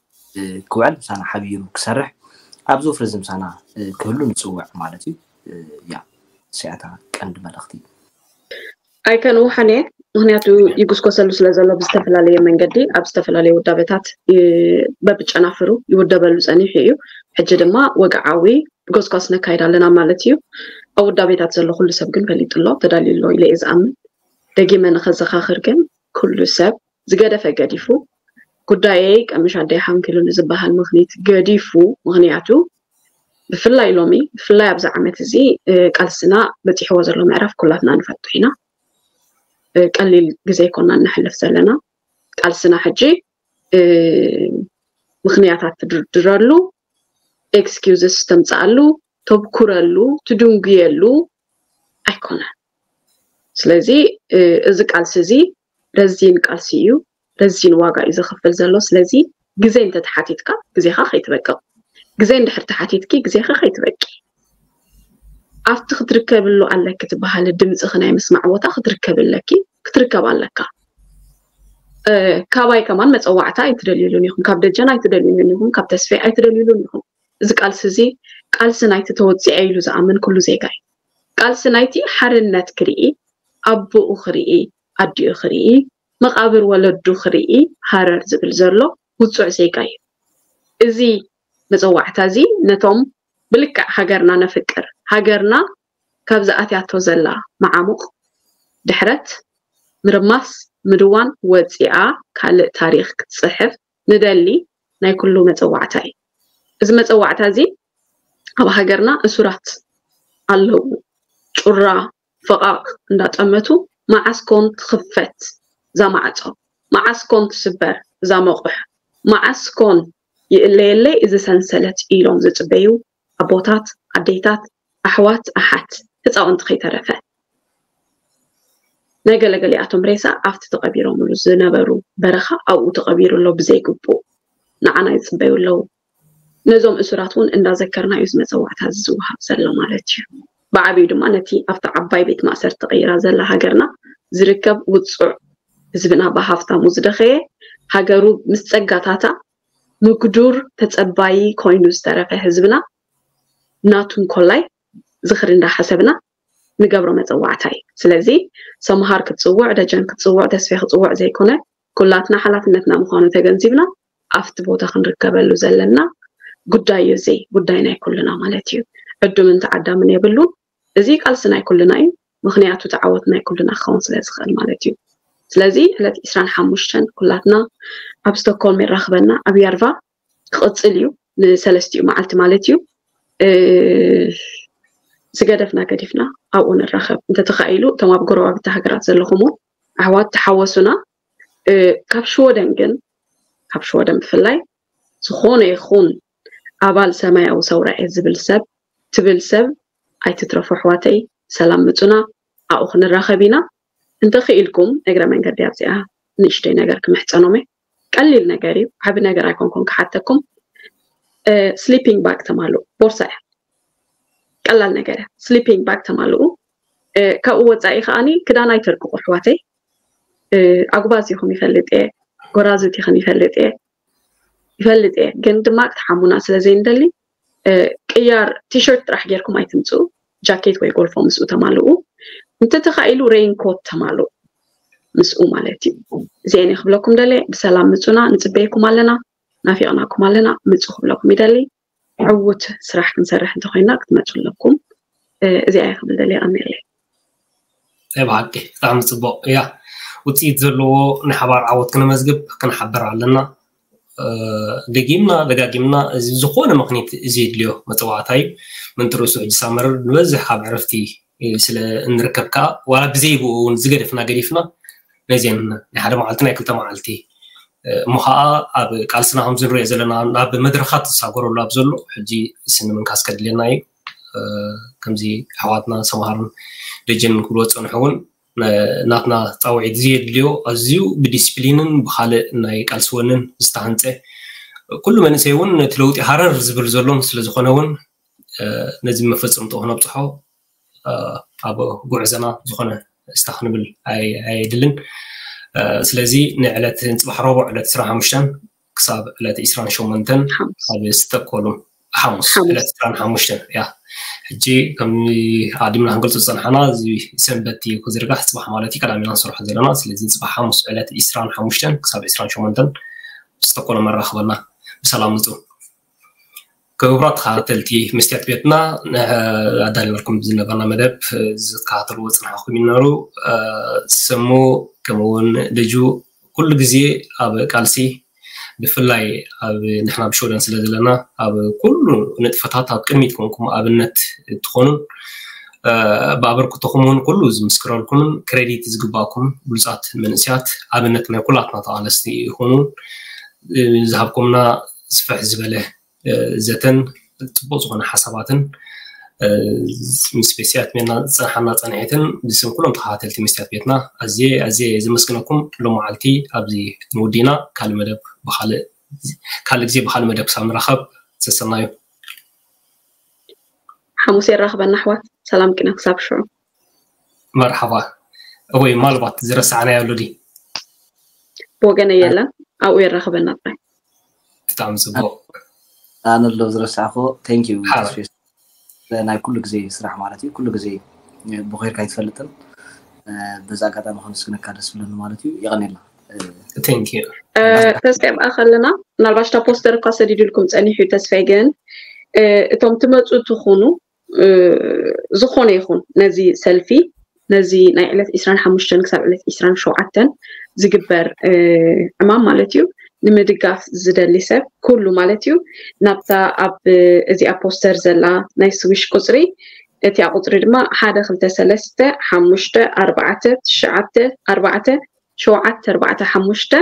ክውዕል ምሳና ሓቢሩ ክሰርሕ ኣብዚ ወፍሪ እዚ ምሳና ክህሉ ንፅውዕ ማለት እዩ። ያ ስያታ ቀንዲ መልእኽቲ ኣይከንውሓን እየ ምክንያቱ ይጉስኮሰሉ ስለ ዘሎ ብዝተፈላለየ መንገዲ ኣብ ዝተፈላለየ ውዳበታት በብጨናፍሩ ይውደበሉ ፀኒሑ እዩ። ሕጂ ድማ ወግዓዊ ጎስጓስ ነካይድ ኣለና ማለት እዩ። ኣብ ውዳቤታት ዘሎ ኩሉ ሰብ ግን ፈሊጡ ኣሎ ተዳልዩ ኣሎ ኢለ እየ ዝኣምን። ደጊመ ንኸዘኻኽር ግን ኩሉ ሰብ ዝገደፈ ገዲፉ ጉዳየይ ቀምሽ ኣደይ ሓንኪሉ ንዝበሃል ምክኒት ገዲፉ ምክንያቱ ብፍላይ ሎሚ ብፍላይ ኣብዚ ዓመት እዚ ቃልስና በፂሕዎ ዘሎ ምዕራፍ ኩላትና ንፈቱ ኢና። ቀሊል ግዜ ይኮና እናሕልፍ ዘለና ቃልስና ሕጂ ምክንያታት ትድርድረሉ excuses ተምፅኣሉ ተብኩረሉ ትድንጉየሉ ኣይኮነን። ስለዚ እዚ ቃልሲ እዚ ረዚን ቃልሲ እዩ። ረዚን ዋጋ እዩ ዘኽፍል ዘሎ። ስለዚ ግዜ እንተተሓቲትካ ግዜኻ ከይትበቅቕ፣ ግዜ እንድሕር ተሓቲትኪ ግዜኺ ከይትበቂ ኣብቲ ክትርከብሉ ኣለኪ ትበሃል ድምፅኺ ናይ ምስማዕ ቦታ ክትርከቢ ኣለኪ ክትርከብ ኣለካ። ካባይ ከማን መፀዋዕታ ኣይትደልዩሉን ኢኹም፣ ካብ ደጀን ኣይትደልዩሉን ኢኹም፣ ካብ ተስፌ ኣይትደልዩሉን ኢኹም። እዚ ቃልሲ እዚ ቃልሲ ናይቲ ተወፂዐ ኢሉ ዝኣምን ኩሉ ዜጋ እዩ። ቃልሲ ናይቲ ሓርነት ክርኢ፣ ኣቦኡ ክርኢ፣ ኣዲኡ ክርኢ፣ መቓብር ወለዱ ክርኢ ሃረር ዝብል ዘሎ ውፁዕ ዜጋ እዩ። እዚ መፀዋዕታ እዚ ነቶም ብልክዕ ሃገርና ነፍቅር፣ ሃገርና ካብ ዝኣትያቶ ዘላ መዓሙቕ ድሕረት ምርማስ ምድዋን ወፂኣ ካልእ ታሪኽ ክትፅሕፍ ንደሊ ናይ ኩሉ መፀዋዕታ እዩ። እዚ መፀዋዕታ እዚ ኣብ ሃገርና እሱራት ኣለዉ። ጩራ ፈቓቕ እንዳጠመቱ መዓስ ኮን ትኽፈት እዛ ማዕፆ፣ መዓስ ኮን ትስበር እዛ መቑሕ፣ መዓስ ኮን ይእለየለይ እዚ ሰንሰለት ኢሎም ዝፅበዩ ኣቦታት፣ ኣዴታት፣ ኣሕዋት፣ ኣሓት፣ ህፃውንቲ ከይተረፈ ናይ ገለገሊኣቶም ሬሳ ኣብቲ ተቐቢሮምሉ ዝነበሩ በረኻ ኣብኡ ተቐቢሩ ኣሎ ብዘይግቡእ ንዓና ይፅበዩ ኣለዉ። ነዞም እሱራት እውን እንዳዘከርና እዩ እዚ መፀዋዕታ እዚ ዝወሃብ ዘሎ ማለት እዩ። ብዓብዩ ድማ ነቲ ኣብታ ዓባይ ቤት ማእሰርቲ ተቐይራ ዘላ ሃገርና ዝርከብ ውፁዕ ህዝብና ብሃፍታሙ ዝደኸየ ሃገሩ ምስ ፀጋታታ ምግዱር ተፀባዪ ኮይኑ ዝተረፈ ህዝብና ናቱ እንኮላይ ዝኽሪ እንዳሓሰብና ንገብሮ መፀዋዕታ እዩ። ስለዚ ሰምሃር ክትፅውዕ፣ ደጀን ክትፅውዕ፣ ተስፌ ክፅውዕ ዘይኮነ ኩላትና ሓላፍነትና ምዃኑ ተገንዚብና ኣብቲ ቦታ ክንርከበሉ ዘለና ጉዳይ እዩ። እዚ ጉዳይ ናይ ኩልና ማለት እዩ። ዕዱምን ተዓዳምን የብሉን። እዚ ቃልሲ ናይ ኩልና እዩ። ምክንያቱ ተዓወት ናይ ኩልና ክኸውን ስለ ዝኽእል ማለት እዩ። ስለዚ ዕለት ዕስራን ሓሙሽተን ኩላትና ኣብ ስቶክሆልም የራኽበና፣ ኣብ ያርቫ ክቕጽል እዩ፣ ንሰለስቲኡ መዓልቲ ማለት እዩ። ዝገደፍና ገዲፍና ኣብኡ ንራኸብ። እንተተኻኢሉ እቶም ኣብ ጎረባብቲ ሃገራት ዘለኹም እውን ኣሕዋት ተሓወሱና። ካብ ሽወደን ግን፣ ካብ ሽወደን ብፍላይ ዝኾነ ይኹን ኣባል ሰማያዊ ሰውራ እየ ዝብል ሰብ፣ ትብል ሰብ ኣይትትረፉ ኣሕዋተይ። ሰላም ምጹና፣ ኣብኡ ክንራኸብ ኢና። እንተኽኢልኩም እግረ መንገዲ ኣብዚኣ ንእሽተይ ነገር ክምሕጸኖም እየ። ቀሊል ነገር እዩ፣ ዓቢ ነገር ኣይኮንኩን ክሓተኩም። ስሊፒንግ ባግ ተማልኡ፣ ቦርሳ እያ፣ ቀላል ነገር እያ። ስሊፒንግ ባግ ተማልኡ። ካብኡ ወጻኢ ከኣኒ ክዳን ኣይተርቅቑ ኣሕዋተይ። ኣጉባዝ ኢኹም ይፈልጥ እየ፣ ጎራዙት ኢኹም ይፈልጥ እየ፣ ይፈልጥ እየ፣ ግን ድማ ክትሓሙና ስለ ዘይንደሊ ቅያር ቲሸርት ጥራሕ ጌርኩም ኣይትምፅኡ። ጃኬት ወይ ጎልፎ ምስኡ ተማልኡ። እንተተኻኢሉ ሬይንኮት ተማልኡ ምስኡ ማለት እዩ። እዚአን ክብለኩም ደለ። ብሰላም ምፁና፣ ንፅበየኩም ኣለና፣ ናፊቕናኩም ኣለና። ምፁ ክብለኩም ይደሊ። ዕዉት ስራሕ ክንሰርሕ እንተኮይና ክትመፁ ኣለኩም። እዚኣ ክብል ደለ። ኣሜለይ። ናይ ብሓቂ ብጣዕሚ ፅቡቕ እያ። ውፅኢት ዘለዎ ናይ ሓባር ዓወት ክነመዝግብ ክንሓበር ኣለና። ደጊምና ደጋጊምና እዚ ዝኾነ ምክኒት እዚ የድልዮ መፀዋዕታ እዩ። ምንትርሱ ሕጂ ሳመር ንበዝሕ ካብ ዕረፍቲ ስለ እንርከብ ከዓ ዋላ ብዘይ ብኡ እውን ዝገደፍና ገዲፍና ነዚን ናይ ሓደ መዓልቲ ናይ ክልተ መዓልቲ እሞ ከዓ ኣብ ቃልስና ከምዚ ንሪኦ ዘለና ናብ መድረኻት ዝሳገረሉ ኣብ ዘሎ ሕጂ ስኒ ምንካስ ከድልየና እዩ። ከምዚ ኣሕዋትና ሰምሃርን ደጀንን ክብልዎ ዝፀንሑ እውን ናትና ፃውዒት ዘየድልዮ ኣዝዩ ብዲስፕሊንን ብካልእ ናይ ቃልሲ ወንን ዝተሃንፀ ኩሉ መንእሰይ እውን ነቲ ለውጢ ሃረር ዝብል ዘሎን ስለዝኮነ እውን ነዚ መፈፀምትኡ ክነብፅሖ ኣብ ጉዕዘና ዝኾነ እስታ ክንብል ኣየድልን። ስለዚ ንዕለት ንፅባሕ ረቡዕ ዕለት ዕስራን ሓሙሽተን ክሳብ ዕለት ዕስራን ሸሞንተን ኣብ ስቶኮልም ሓሙስ ዕለት ዕስራን ሓሙሽተን እያ። ሕጂ ከም ኣዲምና ክንገልፆ ዝፀንሓና እዚ ሰንበት እዩ ክዝርጋሕ፣ ፅባሕ ማለት እዩ ቀዳሚና ንሰርሖ ዘለና። ስለዚ ፅባሕ ሓሙስ ዕለት ዕስራን ሓሙሽተን ክሳብ ዕስራን ሸሞንተን ስቶኮልም ኣራኽበና። ብሰላም ምፁ። ክቡራት ተኸታተልቲ መስትያት ቤትና ኣዳሊናልኩም ዝነበርና መደብ ዝከታተልዎ ዝፅናሕኩም ይነበሩ። ሰሙ ከምኡውን ደጁ ኩሉ ግዜ ኣብ ቃልሲ ብፍላይ ኣብ ንሕና ብሽወደን ስለ ዘለና ኣብ ኩሉ ንጥፈታት ኣብ ቅድሚት ኮንኩም ኣብነት ትኾኑን ብኣበርክቶኹም እውን ኩሉ ዝምስክረልኩምን ክሬዲት ዝግባእኩም ብሉፃት መንእስያት ኣብነት ናይ ኩላትና ተቓለስቲ ይኹኑ። ዝሃብኩምና ስፍሕ ዝበለ ዘተን ፅቡቅ ዝኾነ ሓሳባትን ምስ ቤስያት ሜና ዝፀንሓና ፀንሒትን ብስም ኩሎም ተኸታተልቲ መስትያት ቤትና ኣዝየ ኣዝየ ዘመስግነኩም። ሎመዓልቲ ኣብዚ ንውዲና ካልእ መደብ ብካልእ ካልእ ግዜ ብካልእ መደብ ክሳብ ንራኸብ ሰሰናዩ። ሓሙስ የራኽበና ኣሕዋት፣ ሰላም ቂና ክሳብ ሽዑ። መርሓባ። ወይ ማልባት ዝረሳዕናዮ ኣሎ ድዩ? ብወገነ የለን፣ ኣብኡ የራኽበና ጥራይ። ብጣዕሚ ፅቡቅ። ኣነ ኣሎ ዝረሳዕኮ። Thank you ተስፌ፣ ናይ ኩሉ ግዜ ስራሕ ማለት እዩ። ኩሉ ግዜ ብኮይርካ ኣይትፈልጥን። በዛ ኣጋጣሚ ከመስግነካ ደስ ብለኒ ማለት እዩ። የቐኔልና። Thank you። ተስፋ ይብኣ ከለና ምናልባሽ እታ ፖስተር እኳ ሰዲዱልኩም ፀኒሑ እዩ። ተስፋይ ግን እቶም ትመፁ ትኹኑ ዝኾነ ይኹን ነዚ ሰልፊ ነዚ ናይ ዕለት ዕስራን ሓሙሽተን ክሳብ ዕለት ዕስራን ሸውዓተን ዝግበር ዕማም ማለት እዩ ንምድጋፍ ዝደሊ ሰብ ኩሉ ማለት እዩ ናብታ ኣብ እዚኣ ፖስተር ዘላ ናይ ስዊሽ ቁፅሪ እቲኣ ቁፅሪ ድማ ሓደ ክልተ ሰለስተ ሓሙሽተ ኣርባዕተ ትሽዓተ ኣርባዕተ ሸውዓተ ኣርባዕተ ሓሙሽተ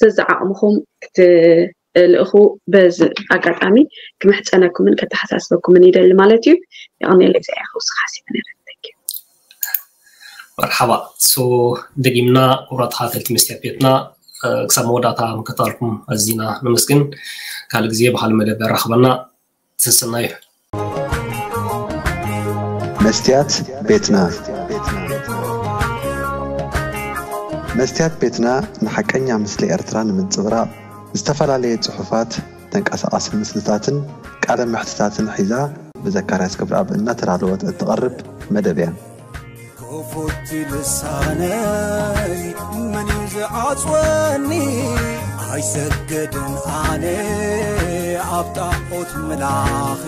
ዘዘዓቕምኹም ክትልእኹ በዚ ኣጋጣሚ ክምሕፀነኩምን ከተሓሳስበኩምን ይደሊ ማለት እዩ። የቐኔለይ እዚኣ ክውስኽ ሓሲበ ነረ። Thank you። መርሓባ። So ደጊምና ክቡራት ተኸታተልቲ መስትያት ቤትና ክሳብ መወዳእታ ምክታልኩም ኣዚና ነመስግን። ካልእ ግዜ ብካልእ መደብ የራኽበና። ሰሰናዩ። መስትያት ቤትና መስትያት ቤትና ንሓቀኛ ምስሊ ኤርትራ ንምንጽብራቕ ዝተፈላለየ ጽሑፋት፣ ተንቀሳቓሲ ምስልታትን ቃለ መሕትታትን ሒዛ ብዘካርያስ ገብረኣብ እናተዳለወት እትቐርብ መደብ እያ። ክፉት ልሳነይ መን እዩ ዝዓጽወኒ? ኣይሰግድን ኣነ ኣብ ጣዖት ምላኺ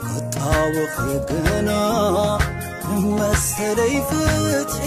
ክጣወኺ ግና መሰለይ ፍትሒ